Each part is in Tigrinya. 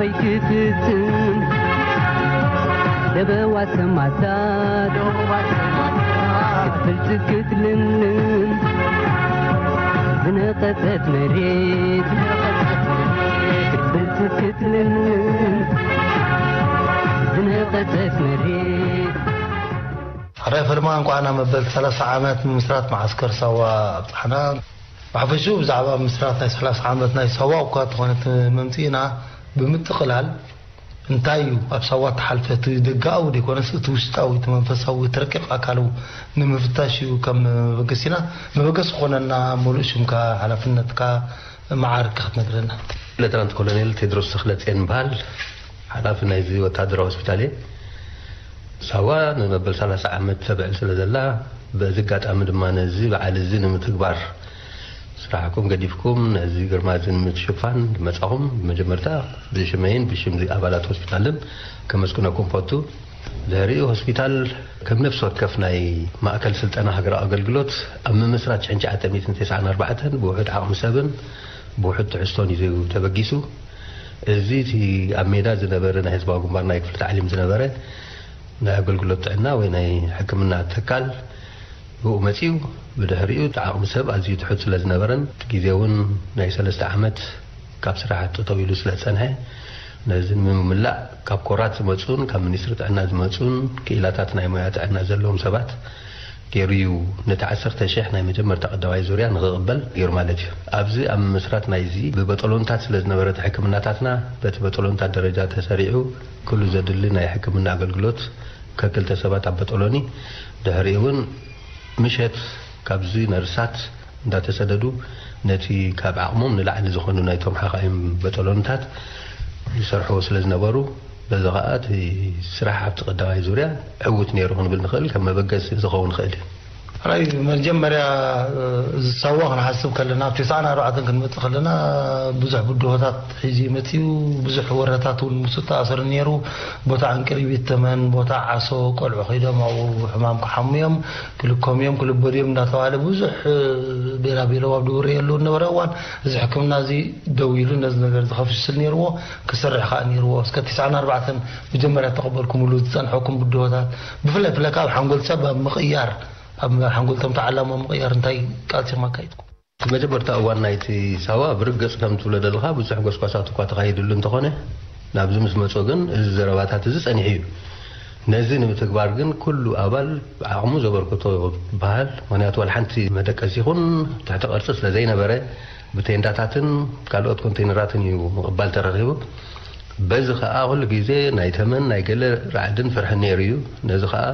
ኣይትፍጽም ለበዋ ሰማታት ክትብልጽ ክትልምን ዝነቐጸት መሬት ክትብልጽ ክትልምን ዝነቐጸት መሬት። ሕራይ ፈለማ እንኳዕ ናብ መበል ሰላሳ ዓመት ምምስራት መዓስከር ሳዋ ኣብጻሕና። ብሓፈሽኡ ብዛዕባ ምስራት ናይ ሰላሳ ዓመት ናይ ሳዋ እኳ ተኾነት መምጽኢና ብምጥቕላል እንታይ እዩ ኣብ ሳዋ ተሓልፈ እቲ ደጋዊ ደይኮነስ እቲ ውሽጣዊ እቲ መንፈሳዊ እቲ ረቂቕ ኣካሉ ንምፍታሽ እዩ ከም መበገሲና መበገሲ ክኾነና ሙሉእ ሽምካ ሓላፍነትካ መዓርካ ክትነግረና። ሌተናንት ኮሎኔል ቴድሮስ ተኽለጽዮን ይበሃል። ሓላፊ ናይዚ ወታደራዊ ሆስፒታል እየ። ሳዋ ንመበል ሰላሳ ዓመት ተብዕል ስለ ዘላ በዚ ኣጋጣሚ ድማ ነዚ በዓል እዚ ንምትግባር ስራሕኩም ገዲፍኩም ነዚ ግርማ እዚ ንምትሽፋን ዝመጻኹም ብመጀመርታ ብሽመይን ብሽም ኣባላት ሆስፒታልን ከመስግነኩም ፈቱ። ድሕሪኡ ሆስፒታል ከም ነፍሲ ወከፍ ናይ ማእከል ስልጠና ሃገራዊ ኣገልግሎት ኣብ ምምስራት ሽሕን ትሽዓተ ሚእትን ተስዓን ኣርባዕተን ብውሑድ ዓቕሚ ሰብን ብውሑድ ትሕዝቶን እዩ ተበጊሱ። እዚ እቲ ኣብ ሜዳ ዝነበረ ናይ ህዝባዊ ግንባር ናይ ክፍሊ ታዕሊም ዝነበረ ናይ ኣገልግሎት ጥዕና ወይ ናይ ሕክምና ትካል ብኡ መጺኡ። ብድሕሪኡ እቲ ዓቕሚ ሰብ ኣዝዩ ትሑት ስለ ዝነበረን እቲ ግዜ እውን ናይ ሰለስተ ዓመት ካብ ስራሕ ጠጠው ኢሉ ስለ ዝጸንሐ ነዚ ንምምላእ ካብ ኮራት ዝመጹን ካብ ሚኒስትሪ ጥዕና ዝመጹን ክኢላታት ናይ ሞያ ጥዕና ዘለዎም ሰባት ገይሩ እዩ ነቲ ዓሰርተ ሽሕ ናይ መጀመርታ ቀዳማይ ዙርያ ንኽቕበል ገይሩ ማለት እዩ። ኣብዚ ኣብ ምምስራት ናይዚ ብበጠሎንታት ስለ ዝነበረ እቲ ሕክምናታትና በቲ በጠሎንታት ደረጃ ተሰሪዑ ኩሉ ዘድሊ ናይ ሕክምና ኣገልግሎት ከክልተ ሰባት ኣብ በጠሎኒ ድሕሪኡ እውን ምሸት ካብዚ ነርሳት እንዳተሰደዱ ነቲ ካብ ዓቕሞም ንላዕሊ ዝኾኑ ናይቶም ሓኻይም በጠሎንታት ይሰርሕዎ ስለ ዝነበሩ በዚ ኸዓ እቲ ስራሕ ኣብቲ ቀዳማይ ዙርያ ዕዉት ነይሩ ክንብል ንኽእል ከም መበገሲ ዝኸውን ይኽእል እዩ። ራይ መጀመርያ እዚ ሳዋ ክንሓስብ ከለና ኣብ ተስዓን ኣርባዕተን ክንመፅእ ከለና ብዙሕ ብድሆታት ሒዙ መፅኡ። ብዙሕ ወረታት እውን ምስ ተኣሰሩ ነይሩ። ቦታ ዕንቅሪቢት ተመን ቦታ ዓሶ ቆልዑ ከይዶም ኣብኡ ሕማም ክሓሙ እዮም ክልኮም እዮም ክልበዱ እዮም እንዳተባለ ብዙሕ ቤላ ቤለው ኣብ ድውር የሉ ነበረ እዋን እዚ ሕክምና እዚ ደው ኢሉ ነዚ ነገር እዚ ከፍሽል ነይርዎ። ክሰርሕ ከዓ ነይርዎ እስከ ተስዓን ኣርባዕተን መጀመርያ ተቐበልኩምሉ ዝፀንሐኩም ብድሆታት ብፍላይ ብለካ ኣብ ሓንጎል ሰብ ኣብ ምቕያር ኣብ ሓንጎልቶም ተዓላሞ ምቕያር እንታይ ቃልሲኹም ኣካይድኩም? እቲ መጀመርታ እዋን ናይቲ ሳዋ ብርግፅ ከም ትብሎ ዘለኻ ብዙሕ ጎስጓሳት እኳ ተኻይድሉ እንተኾነ ናብዚ ምስ መጾ ግን እዚ ዘረባታት እዚ ጸኒሑ እዩ። ነዚ ንምትግባር ግን ኩሉ ኣባል ዓቕሙ ዘበርክቶ ይበሃል። ምክንያቱ ዋላ ሓንቲ መደቀሲ ይኹን ትሕቲ ቅርፂ ስለ ዘይነበረ ብቴንዳታትን ካልኦት ኮንቴይነራትን እዩ ምቕባል ተረኺቡ። በዚ ኸኣ ኩሉ ግዜ ናይ ተመን ናይ ገለ ራዕድን ፍርሕን ነይሩ እዩ። ነዚ ኸኣ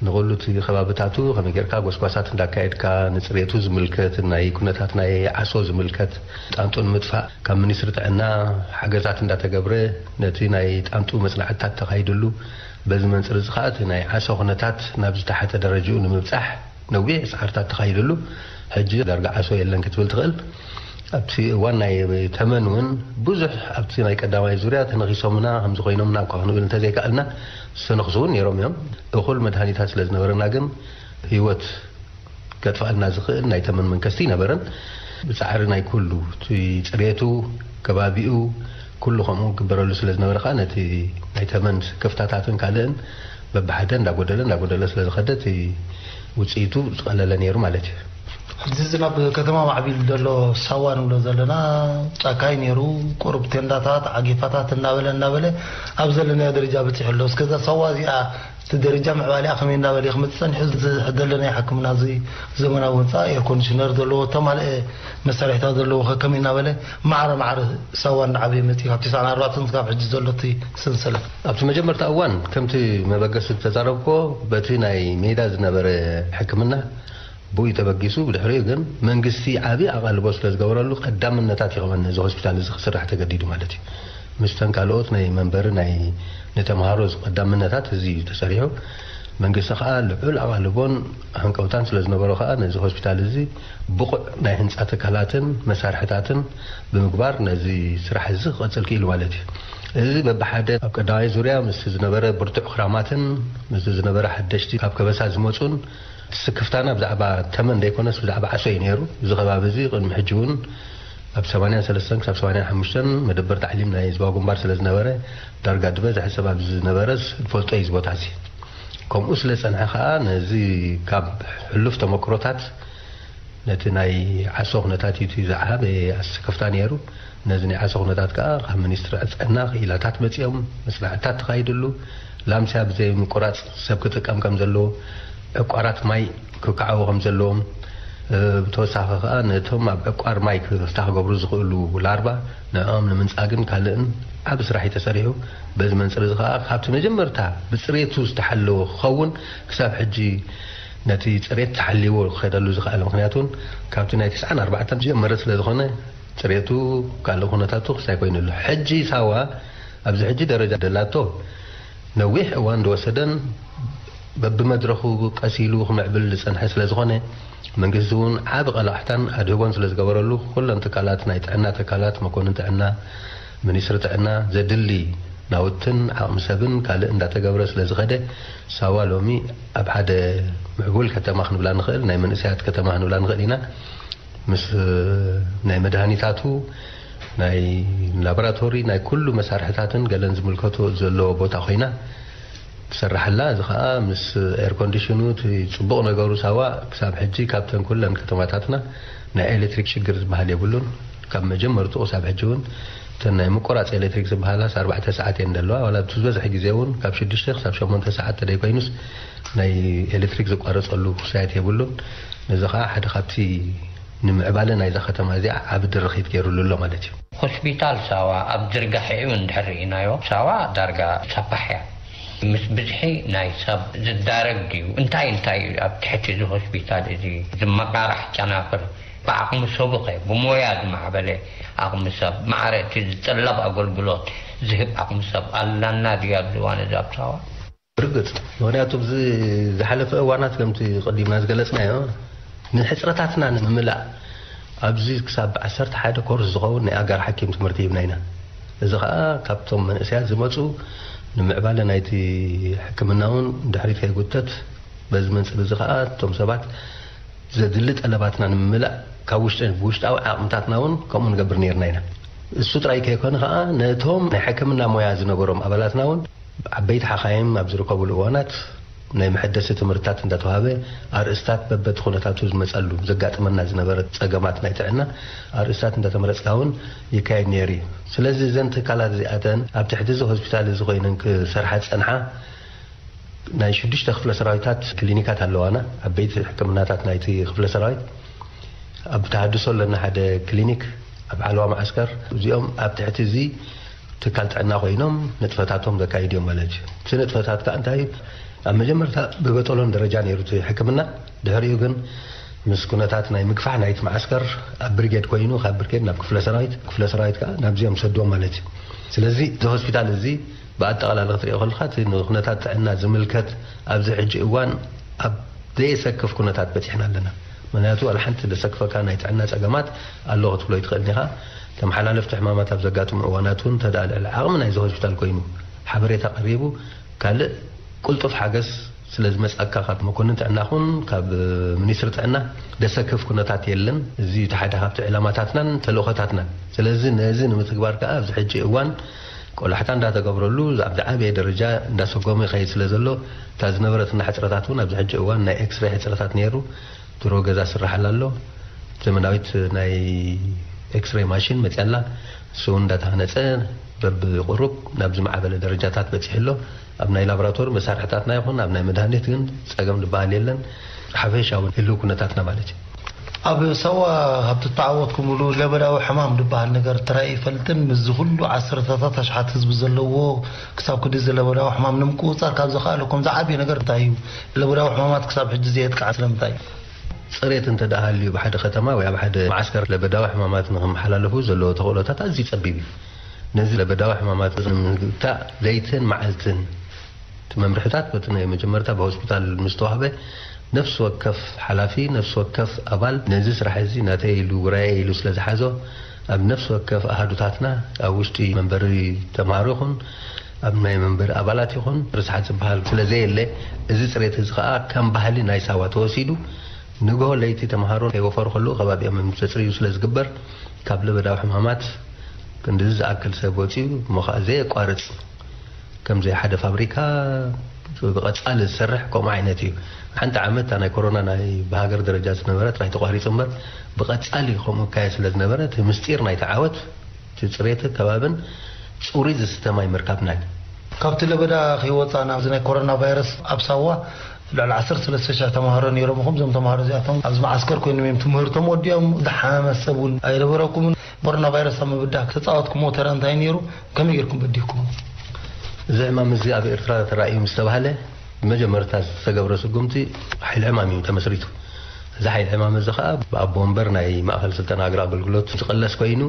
ንኹሉ እቲ ከባብታቱ ከመይ ጌርካ ጎስጓሳት እንዳካየድካ ንፅሬቱ ዝምልከት ናይ ኩነታት ናይ ዓሶ ዝምልከት ጣንጡ ንምጥፋእ ካብ ሚኒስትሪ ጥዕና ሓገዛት እንዳተገብረ ነቲ ናይ ጣንጡ መፅናዕትታት ተኻይድሉ በዚ መንፅር እዚ ከዓ እቲ ናይ ዓሶ ኩነታት ናብ ዝተሓተ ደረጅኡ ንምብፃሕ ነዊሕ ፃዕርታት ተኻይድሉ ሕጂ ዳርጋ ዓሶ የለን ክትብል ትኽእል። ኣብቲ እዋን ናይ ተመን እውን ብዙሕ ኣብቲ ናይ ቀዳማይ ዙርያ ተነኺሶምና ከምዚ ኮይኖምና እኳ ክንብል እንተዘይከኣልና ዝተነኽሱ እውን ነይሮም እዮም። እኹል መድሃኒታት ስለ ዝነበረና ግን ህይወት ከጥፋልና ዝኽእል ናይ ተመን መንከስቲ ነበረን። ብፃዕሪ ናይ ኩሉ እቲ ፅሬቱ ከባቢኡ ኩሉ ከምኡ ግበረሉ ስለ ዝነበረ ከዓ ነቲ ናይ ተመን ክፍታታትን ካልእን በብሓደ እንዳጎደለ እንዳጎደለ ስለ ዝኸደ እቲ ውፅኢቱ ዝቐለለ ነይሩ ማለት እዩ። ሕዚ እዚ ናብ ከተማ ማዕቢል ዘሎ ሳዋ ንብሎ ዘለና ጫካይ ነይሩ። ቁሩብ ቴንዳታት ዓጌፋታት እናበለ እናበለ ኣብ ዘለናዮ ደረጃ በፂሑ ኣሎ። እስከዛ ሳዋ እዚኣ እቲ ደረጃ ምዕባሊኣ ከመይ እናበለ ክመፅእ ፀኒሑ? እዚ ሕደለ ናይ ሕክምና እዚ ዘመናዊ ህንፃ ኤር ኮንዲሽነር ዘለዎ ተማልአ መሳርሒታት ዘለዎ ከ ከመይ እናበለ ማዕረ ማዕረ ሳዋ እናዓበየ መፂኡ ካብ ተስዓን ኣርባዕተን ክሳብ ሕጂ ዘሎ እቲ ሰንሰለት ኣብቲ መጀመርታ እዋን ከምቲ መበገሲ ዝተዛረብኮ በቲ ናይ ሜዳ ዝነበረ ሕክምና ብኡ ተበጊሱ ብድሕሪኡ ግን መንግስቲ ዓብዪ ኣቓልቦ ስለ ዝገበረሉ ቀዳምነታት ይኸውን እዚ ሆስፒታል እዚ ክስራሕ ተገዲዱ ማለት እዩ። ምስተን ካልኦት ናይ መንበሪ ናይ ንተምሃሮ ቀዳምነታት እዚ እዩ ተሰሪሑ። መንግስቲ ከዓ ልዑል ኣቓልቦን ሃንቀውታን ስለ ዝነበሮ ከዓ ነዚ ሆስፒታል እዚ ብቑዕ ናይ ህንፃ ትካላትን መሳርሕታትን ብምግባር ነዚ ስራሕ እዚ ክቐፅል ክኢሉ ማለት እዩ። እዚ በብሓደ ኣብ ቀዳማይ ዙርያ ምስ ዝነበረ ብርቱዕ ክራማትን ምስ ዝነበረ ሓደሽቲ ካብ ከበሳ ዝመፁን ስክፍታና ብዛዕባ ተመን ዘይኮነስ ብዛዕባ ዓሶ እዩ ነይሩ። እዚ ከባቢ እዚ ቅድሚ ሕጂ እውን ካብ ሰማንያን ሰለስተን ክሳብ ሰማንያን ሓሙሽተን መደበር ታዕሊም ናይ ህዝባዊ ግንባር ስለ ዝነበረ፣ ዳርጋ ዝበዝሐ ሰብ ኣብዚ ዝነበረስ ዝፈልጦ እዩ እዚ ቦታ እዚ። ከምኡ ስለ ዝጸንሐ ከኣ፣ ነዚ ካብ ሕሉፍ ተመክሮታት፣ ነቲ ናይ ዓሶ ኩነታት እዩ እቲ ዝዓበየ ኣሰከፍታ ነይሩ። ነዚ ናይ ዓሶ ኩነታት ከኣ ካብ ሚኒስትሪ ጥዕና ክኢላታት መጺኦም፣ መጽናዕትታት ተኻይድሉ፣ ላምስያ ብዘይ ምቁራጽ ሰብ ክጥቀም ከም ዘለዎ፣ ዕቋራት ማይ ክከዓቡ ከም ዘለዎም፣ እ፣ ብተወሳኺ ከኣ ነቶም ኣብ ዕቋር ማይ ክፍታሕ ክገብሩ ዝኽእሉ ላርባ ንዕኦም ንምንጻግን ካልእን ዓቢ ስራሕ እዩ ተሰሪሑ። በዚ መንጽር እዚ ከኣ ካብቲ መጀመርታ ብጽሬቱ ዝተሓለወ ክኸውን ክሳብ ሕጂ ነቲ ጽሬት ተሓልይዎ ክኸደሉ ዝኽኣለ። ምኽንያቱ እውን ካብቲ ናይ ትስዓን ኣርባዕተን ዝጀመረ ስለ ዝኾነ ጽሬቱ ካልእ ኩነታቱ ክስታይ ኮይኑ ኣሎ። ሕጂ ሳዋ ኣብዚ ሕጂ ደረጃ ደላቶ ነዊሕ እዋን ዝወሰደን በብመድረኹ ቀስ ኢሉ ክምዕብል ዝጸንሐ ስለ ዝኾነ፣ መንግስቲ እውን ዓቢ ቀላሕታን ኣድህቦን ስለ ዝገበረሉ፣ ኩለን ትካላት፣ ናይ ጥዕና ትካላት፣ መኮንን ጥዕና፣ ሚኒስትሪ ጥዕና፣ ዘድሊ ናውትን ዓቕሚ ሰብን ካልእ እንዳተገብረ ስለ ዝኸደ፣ ሳዋ ሎሚ ኣብ ሓደ ምዕቡል ከተማ ክንብላ ንኽእል፣ ናይ መንእሰያት ከተማ ክንብላ ንኽእል ኢና። ምስ ናይ መድሃኒታቱ፣ ናይ ላቦራቶሪ፣ ናይ ኩሉ መሳርሕታትን ገለን ዝምልከቶ ዘለዎ ቦታ ኮይና ትሰርሓላ። እዚ ኸኣ ምስ ኤር ኮንዲሽኑ፣ እቲ ጽቡቕ ነገሩ ሳዋ ክሳብ ሕጂ ካብተን ኩለን ከተማታትና ናይ ኤሌክትሪክ ሽግር ዝበሃል የብሉን። ካብ መጀመርትኡ ክሳብ ሕጂ እውን እተን ናይ ምቁራጽ ኤሌክትሪክ ዝበሃላስ ኣርባዕተ ሰዓት እየን ዘለዋ። ዋላ እቲ ዝበዝሐ ግዜ እውን ካብ ሽዱሽተ ክሳብ ሸሞንተ ሰዓት ተደይኮይኑስ ናይ ኤሌክትሪክ ዝቋረጸሉ ክሳየት የብሉን። ነዚ ኸኣ ሓደ ካብቲ ንምዕባለ ናይዛ ከተማ እዚኣ ዓቢ ድርኺት ገይሩሉ ኣሎ ማለት እዩ። ሆስፒታል ሳዋ ኣብ ዝርጋሐ እውን እንድሕር ርኢናዮ፣ ሳዋ ዳርጋ ሰፋሕ እያ። ምስ ብዝሒ ናይ ሰብ ዝዳረግ ድዩ? እንታይ እንታይ እዩ ኣብ ትሕቲ እዚ ሆስፒታል እዚ ዝመቓራሕ ጨናፍር? ብዓቕሚ ሰቡኸ፣ ብሞያ ዝማዕበለ ዓቕሚ ሰብ፣ ማዕረ እቲ ዝጥለብ ኣገልግሎት ዝህብ ዓቕሚ ሰብ ኣላና ድዩ ኣብዚ እዋን እዚ ኣብ ሳዋ? ብርግጽ፣ ምኽንያቱ ኣብዚ ዝሓለፈ እዋናት ከምቲ ቀዲምና ዝገለጽናዮ፣ ንሕጽረታትና ንምምላእ ኣብዚ ክሳብ ዓሰርተ ሓደ ኮርስ ዝኸውን ናይ ኣጋር ሓኪም ትምህርቲ ሂብና ኢና። እዚ ኸኣ ካብቶም መንእሰያት ዝመጹ ንምዕባለ ናይቲ ሕክምና እውን ድሕሪት ከይጉተት፣ በዚ መንጽር እዚ ኸኣ እቶም ሰባት ዘድሊ ጠለባትና ንምምላእ ካብ ውሽጢ፣ ብውሽጣዊ ዓቕምታትና እውን ከምኡ ንገብር ነይርና ኢና። እሱ ጥራይ ከይኮነ ኸኣ ነቶም ናይ ሕክምና ሞያ ዝነበሮም ኣባላትና እውን ዓበይቲ ሓኻይም ኣብ ዝርከቡሉ እዋናት ናይ መሐደሲ ትምህርትታት እንዳተዋህበ፣ ኣርእስታት በበቲ ኩነታቱ ዝመጸሉ ዘጋጥመና ዝነበረ ጸገማት ናይ ጥዕና ኣርእስታት እንዳተመረጽካ እውን ይካየድ ነይሩ እዩ። ስለዚ እዘን ትካላት እዚኣተን ኣብ ትሕቲ እዚ ሆስፒታል እዚ ኮይነን ክሰርሓ ዝጸንሓ ናይ ሽዱሽተ ክፍለ ሰራዊታት ክሊኒካት ኣለዋና፣ ዓበይቲ ሕክምናታት ናይቲ ክፍለ ሰራዊት። ኣብ ተሃድሶ ኣለና ሓደ ክሊኒክ፣ ኣብ ዓለዋ መዓስከር። እዚኦም ኣብ ትሕቲ እዚ ትካል ጥዕና ኮይኖም ንጥፈታቶም ዘካይድ እዮም ማለት እዩ። እቲ ንጥፈታት ከኣ እንታይ እዩ? ኣብ መጀመርታ ብበጠሎን ደረጃ ነይሩ እቲ ሕክምና። ድሕሪኡ ግን ምስ ኩነታት ናይ ምግፋሕ ናይቲ መዓስከር ኣብ ብርጌድ ኮይኑ፣ ካብ ብርጌድ ናብ ክፍለ ሰራዊት፣ ክፍለ ሰራዊት ከኣ ናብዚኦም ሰድዎም ማለት እዩ። ስለዚ እዚ ሆስፒታል እዚ ብኣጠቓላሊ ክትሪኦ ከለኻ፣ እቲ ንኩነታት ጥዕና ዝምልከት ኣብዚ ሕጂ እዋን ኣብ ዘየሰክፍ ኩነታት በጺሕና ኣለና። ምኽንያቱ፣ ዋላ ሓንቲ ዘሰክፈካ ናይ ጥዕና ጸገማት ኣሎ ክትብሎ ኣይትኽእልን ኢኻ። ተመሓላለፍቲ ሕማማት ኣብ ዘጋጥሙ እዋናት እውን፣ እንተ ደኣ ልዕሊ ዓቕሚ ናይዚ ሆስፒታል ኮይኑ፣ ሓበሬታ ቀሪቡ፣ ካልእ ቅልጡፍ ሓገዝ ስለ ዝመጽኣካ፣ ካብ መኮንን ጥዕና ኹን ካብ ሚኒስትሪ ጥዕና ዘሰክፍ ኩነታት የለን። እዚ እቲ ሓደ ካብቲ ዕላማታትናን ተልእኾታትናን። ስለዚ ነዚ ንምትግባር ከኣ ኣብዚ ሕጂ እዋን ቆላሕታ እንዳተገብረሉ፣ ኣብ ዝዓበየ ደረጃ እንዳሰጎመ ይኸይድ ስለ ዘሎ፣ እታ ዝነበረትና ሕጽረታት እውን ኣብዚ ሕጂ እዋን ናይ ኤክስሬ ሕጽረታት ነይሩ። ድሮ ገዛ ስራሓላ ኣሎ። ዘመናዊት ናይ ኤክስሬ ማሽን መጽያ ኣላ። እሱ እውን እንዳተሃነጸ በብቁሩብ ናብ ዝማዕበለ ደረጃታት በጺሑ ኣሎ። ኣብ ናይ ላቦራቶሪ መሳርሕታትና ይኹን ኣብ ናይ መድሃኒት ግን ጸገም ዝበሃል የለን። ሓፈሻዊ ህልው ኩነታትና ማለት እዩ። ኣብ ሳዋ ኣብ ትተዓወትኩምሉ ለበዳዊ ሕማም ዝበሃል ነገር ተራእዩ ይፈልጥን? ምስዚ ኩሉ ዓሰርተታት ኣሽሓት ህዝቢ ዘለዎ፣ ክሳብ ክንድዚ ለበዳዊ ሕማም ንምቁጽጻር ካብ ዘኽኣለኩም ዝዓበየ ነገር እንታይ እዩ? ለበዳዊ ሕማማት ክሳብ ሕጂ ዘየጥቅዓ ስለምንታይ እዩ? ጽሬት እንተ ደኣ ሃልዩ፣ ኣብ ሓደ ከተማ ወይ ኣብ ሓደ መዓስከር ለበዳዊ ሕማማት ንኽመሓላለፉ ዘለዎ ተኽእሎታት ኣዝዩ ጸቢብ እዩ። ነዚ ለበዳዊ ሕማማት ንምግታእ ለይትን መዓልትን እቲ መምርሕታት በቲ ናይ መጀመርታ ብሆስፒታል ምስ ተዋህበ፣ ነፍሲ ወከፍ ሓላፊ፣ ነፍሲ ወከፍ ኣባል ነዚ ስራሕ እዚ ናተይ ኢሉ፣ ውራየይ ኢሉ ስለ ዝሓዞ፣ ኣብ ነፍሲ ወከፍ ኣሃዱታትና፣ ኣብ ውሽጢ መንበሪ ተምሃሮ ይኹን ኣብ ናይ መንበሪ ኣባላት ይኹን ርስሓት ዝበሃል ስለ ዘየለ፣ እዚ ጽሬት እዚ ኸኣ ከም ባህሊ ናይ ሳዋ ተወሲዱ፣ ንግሆ ለይቲ ተምሃሮ ከይወፈሩ ከለዉ ከባቢኦም ዘጽርዩ ስለ ዝግበር፣ ካብ ለበዳዊ ሕማማት ክንድዚ ዝኣክል ሰብ ወፂኡ፣ እሞ ኸዓ ዘየቋርፅ፣ ከምዚ ሓደ ፋብሪካ ብቐፃሊ ዝሰርሕ ከምኡ ዓይነት እዩ። ሓንቲ ዓመት እታ ናይ ኮሮና ናይ ብሃገር ደረጃ ዝነበረ ጥራይ ተቋሪፁ እምበር፣ ብቐፃሊ ከምኡ ይካየድ ስለ ዝነበረ፣ እቲ ምስጢር ናይቲ ዓወት፣ እቲ ፅሬት ከባብን ፅሩይ ዝስተ ማይ ምርካብና እዩ። ካብቲ ለበዳ ከይወፃእና፣ ኣብዚ ናይ ኮሮና ቫይረስ ኣብ ሳዋ ልዕሊ ዓሰርተ ሰለስተ ሽሕ ተምሃሮ ነይሮም። እኹም እዞም ተምሃሮ እዚኣቶም ኣብዚ መዓስከር ኮይኖም እዮም ትምህርቶም ወዲኦም። ዝሓመመ ሰብ እውን ኣይነበረኩምን። ኮሮና ቫይረስ ኣብ ምብዳህ ተፃወትኩሞ ተራ እንታይ ነይሩ? ከመይ ጌርኩም በዲህኩሞ? እዚ ሕማም እዚ ኣብ ኤርትራ ተራእዩ ምስ ተባህለ፣ ብመጀመርታ ዝተገብረ ስጉምቲ ሓይሊ ዕማም እዩ ተመስሪቱ። እዚ ሓይሊ ዕማም እዚ ኸዓ ብኣቦ ወንበር ናይ ማእኸል ስልጠና ሃገራዊ ኣገልግሎት ዝቕለስ ኮይኑ፣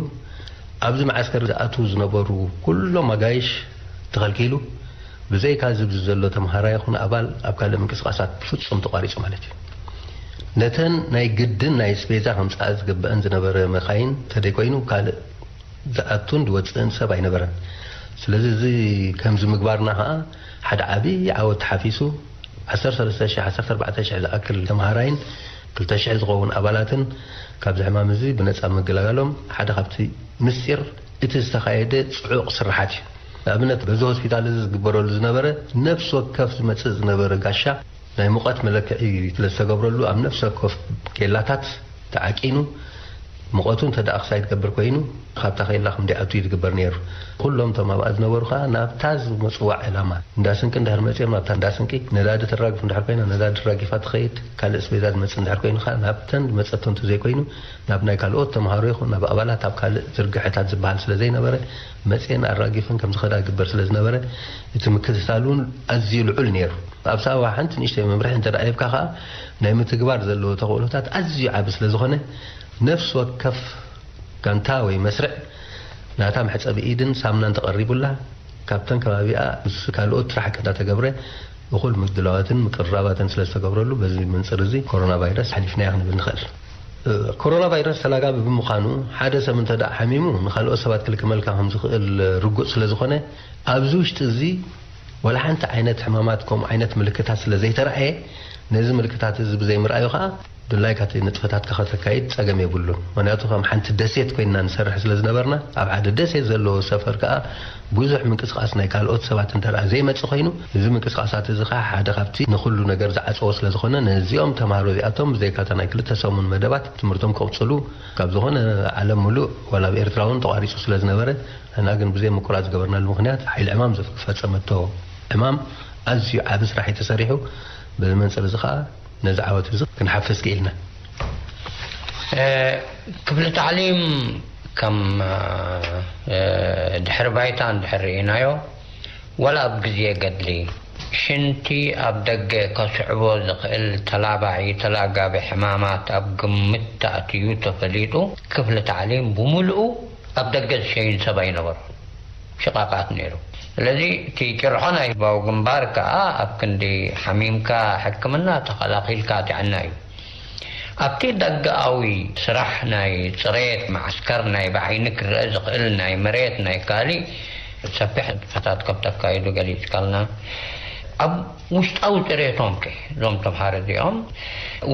ኣብዚ መዓስከር ዝኣትዉ ዝነበሩ ኩሎም ኣጋይሽ ተኸልኪሉ፣ ብዘይካ እዚ ኣብዚ ዘሎ ተምሃራይ ይኹን ኣባል ኣብ ካልእ ምንቅስቓሳት ብፍጹም ተቋሪጹ ማለት እዩ። ነተን ናይ ግድን ናይ ስፔዛ ከምጽኣ ዝግበአን ዝነበረ መኻይን እንተደይኮይኑ ካልእ ዝኣቱን ዝወጽእን ሰብ ኣይነበረን። ስለዚ እዚ ከምዚ ምግባርና ኸኣ ሓደ ዓቢ ዓወት ተሓፊሱ፣ ዓሰርተ ሰለስተ ሽሕ፣ ዓሰርተ ኣርባዕተ ሽሕ ዝኣክል ተምሃራይን ክልተ ሽሕ ዝኸውን ኣባላትን ካብዚ ሕማም እዚ ብነጻ ምግላጋሎም ሓደ ካብቲ ምስጢር እቲ ዝተኻየደ ጽዑቕ ስርሓት እዩ። ንኣብነት በዚ ሆስፒታል እዚ ዝግበረሉ ዝነበረ ነፍሲ ወከፍ ዝመጽእ ዝነበረ ጋሻ ናይ ሙቐት መለክዒ ስለ ዝተገብረሉ ኣብ ነፍሲ ወከፍ ኬላታት ተዓቂኑ፣ ሙቐቱ እንተ ደኣ ክሳይድ ገብር ኮይኑ፣ ካብታ ኬላ ከም ደይኣቱ እዩ ዝግበር ነይሩ። ኩሎም እቶም ኣብኣ ዝነበሩ ከኣ ናብታ ዝመጽዋ ዕላማ፣ እንዳ ስንቂ እንድሕር መጺኦም፣ ናብታ እንዳ ስንቂ ነዳዲ ተራግፍ እንድሕር ኮይና፣ ነዳዲ ራጊፋ ትኸይድ፣ ካልእ ስቤዛ ዝመጽእ እንድሕር ኮይኑ ከኣ ናብተን ዝመጸቶ እንተዘይኮይኑ፣ ናብ ናይ ካልኦት ተምሃሮ ይኹን ናብ ኣባላት ኣብ ካልእ ዝርግሐታት ዝበሃል ስለ ዘይነበረ፣ መጺኤን ኣራጊፈን ከም ዝኸዳ ይግበር ስለ ዝነበረ፣ እቲ ምክትታል እውን ኣዝዩ ልዑል ነይሩ። ኣብ ሳዋ ሓንቲ ንእሽተይ መምርሒ እንተ ደኣ ሂብካ ከኣ፣ ናይ ምትግባር ዘለዎ ተኽእሎታት ኣዝዩ ዓቢ ስለ ዝኾነ፣ ነፍሲ ወከፍ ጋንታ ወይ መስርዕ ናታ መሕጸቢ ኢድን ሳምናን ተቐሪቡላ፣ ካብተን ከባቢኣ ምስ ካልኦት ራሕቂ እንዳተገብረ፣ እኹል ምድላዋትን ምቅርራባትን ስለ ዝተገብረሉ፣ በዚ መንጽር እዚ ኮሮና ቫይረስ ሓሊፍናያ ክንብል ንኽእል። እ፣ ኮሮና ቫይረስ ተላጋቢ ብምዃኑ፣ ሓደ ሰብ እንተ ደኣ ሓሚሙ፣ ንኻልኦት ሰባት ክልክመልካ ከም ዝኽእል ርጉጽ ስለ ዝኾነ፣ ኣብዚ ውሽጢ እዚ ዋላ ሓንቲ ዓይነት ሕማማት ከምኡ ዓይነት ምልክታት ስለ ዘይተራእየ፣ ነዚ ምልክታት እዚ ብዘይምርኣዩ ኸኣ ድላይካ እቲ ንጥፈታትካ ከተካይድ ጸገም የብሉን። ምኽንያቱ ከም ሓንቲ ደሴት ኮይንና ንሰርሕ ስለ ዝነበርና፣ ኣብ ሓደ ደሴት ዘለዎ ሰፈር ከኣ ብዙሕ ምንቅስቓስ ናይ ካልኦት ሰባት እንተ ደኣ ዘይመጽእ ኮይኑ፣ እዚ ምንቅስቓሳት እዚ ኸኣ ሓደ ካብቲ ንኹሉ ነገር ዝዓጸዎ ስለ ዝኾነ፣ ነዚኦም ተምሃሮ እዚኣቶም ብዘይካ እታ ናይ ክልተ ሰሙን መደባት ትምህርቶም ክቕጽሉ ካብ ዝኾነ ዓለም ምሉእ ዋላ ኣብ ኤርትራ እውን ተቋሪጹ ስለ ዝነበረ፣ ንሕና ግን ብዘይ ምቁራጽ ዝገበርናሉ ምኽንያት ሓይሊ ዕማም ዝፈጸመቶ ዕማም ኣዝዩ ዓቢ ስራሕ እዩ ተሰሪሑ። በዚ መንጽር እዚ ኸኣ ነዚ ዓወት እዚ ክንሓፍስ ክኢልና። እ፣ ክፍሊ ታዕሊም ከም፣ እ፣ ድሕሪ ባይታ እንድሕር ርኢናዮ፣ ዋላ ኣብ ግዜ ገድሊ፣ ሽንቲ ኣብ ደገ ከስዕቦ ዝኽእል ተላባዒ ተላጋቢ ሕማማት ኣብ ግምት ተኣትዩ ተፈሊጡ፣ ክፍሊ ታዕሊም ብምሉኡ ኣብ ደገ ዝሸይን ሰብ ኣይነበሮን። ሽቓቓት ነይሩ። ስለዚ እቲ ጭርሖ ናይ ህዝባዊ ግንባር ከኣ ኣብ ክንዲ ሓሚምካ ሕክምና ተኸላኺልካ ጥዕና እዩ። ኣብቲ ደገኣዊ ስራሕ ናይ ጽሬት፣ መዓስከር ናይ ብዓይኒ ክረአ ዝኽእል ናይ መሬት ናይ ካሊእ ሰፊሕ ንጥፈታት ከም ተካይዱ ገሊጽካልና። ኣብ ውሽጣዊ ጽሬቶም ከ እዞም ተምሃሮ እዚኦም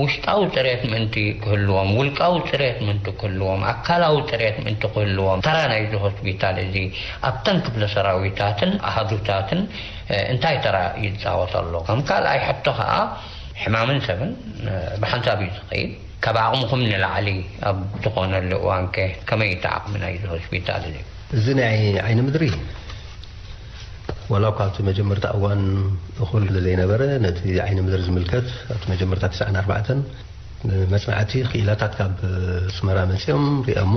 ውሽጣዊ ጽሬት ምእንቲ ክህልዎም፣ ውልቃዊ ጽሬት ምእንቲ ክህልዎም፣ ኣካላዊ ጽሬት ምእንቲ ክህልዎም፣ ተራ ናይዚ ሆስፒታል እዚ ኣብተን ክፍለ ሰራዊታትን ኣሃዱታትን፣ እ፣ እንታይ ተራ ይጻወት ኣሎ? ከም ካልኣይ ሕቶ ከኣ፣ ሕማምን ሰብን፣ እ፣ ብሓንሳብ እዩ ዝኸይድ። ካብ ዓቕምኹም ንላዕሊ ኣብ ዝኾነሉ እዋን ከ ከመይ እቲ ዓቕሚ ናይዚ ሆስፒታል እዚ? እዚ ናይ ዓይኒ ምድሪ፣ ዋላ እኳ ኣብቲ መጀመርታ እዋን እኹል ዘይነበረ፣ ነቲ ዓይኒ ምድሪ ዝምልከት ኣብቲ መጀመርታ ትስዓን ኣርባዕተን መጽናዕቲ ክኢላታት ካብ ኣስመራ መጺኦም ሪኦሞ፣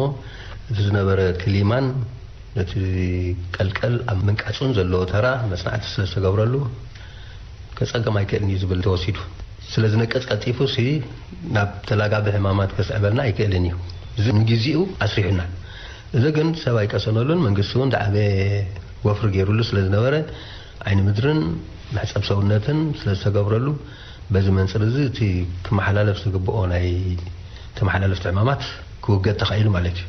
እቲ ዝነበረ ክሊማን ነቲ ቀልቀል ኣብ ምንቃጹን ዘለዎ ተራ መጽናዕቲ ስለ ዝተገብረሉ፣ ከጸግም ኣይክእልን እዩ ዝብል ተወሲዱ። ስለ ዝነቅጽ ቀልጢፉ ሲ ናብ ተላጋቢ ሕማማት ከስዕበልና ኣይክእልን እዩ። እዚ ንግዜኡ ኣስሪሑና። እዚ ግን ሰብ ኣይቀሰነሉን፣ መንግስቲ እውን ዝዓበየ ወፍሪ ገይሩሉ ስለ ዝነበረ፣ ዓይኒ ምድርን መሕጸብ ሰውነትን ስለ ዝተገብረሉ፣ በዚ መንጽር እዚ እቲ ክመሓላለፍ ዝግብኦ ናይ ተመሓላለፍቲ ሕማማት ክውገድ ተኻኢሉ ማለት እዩ።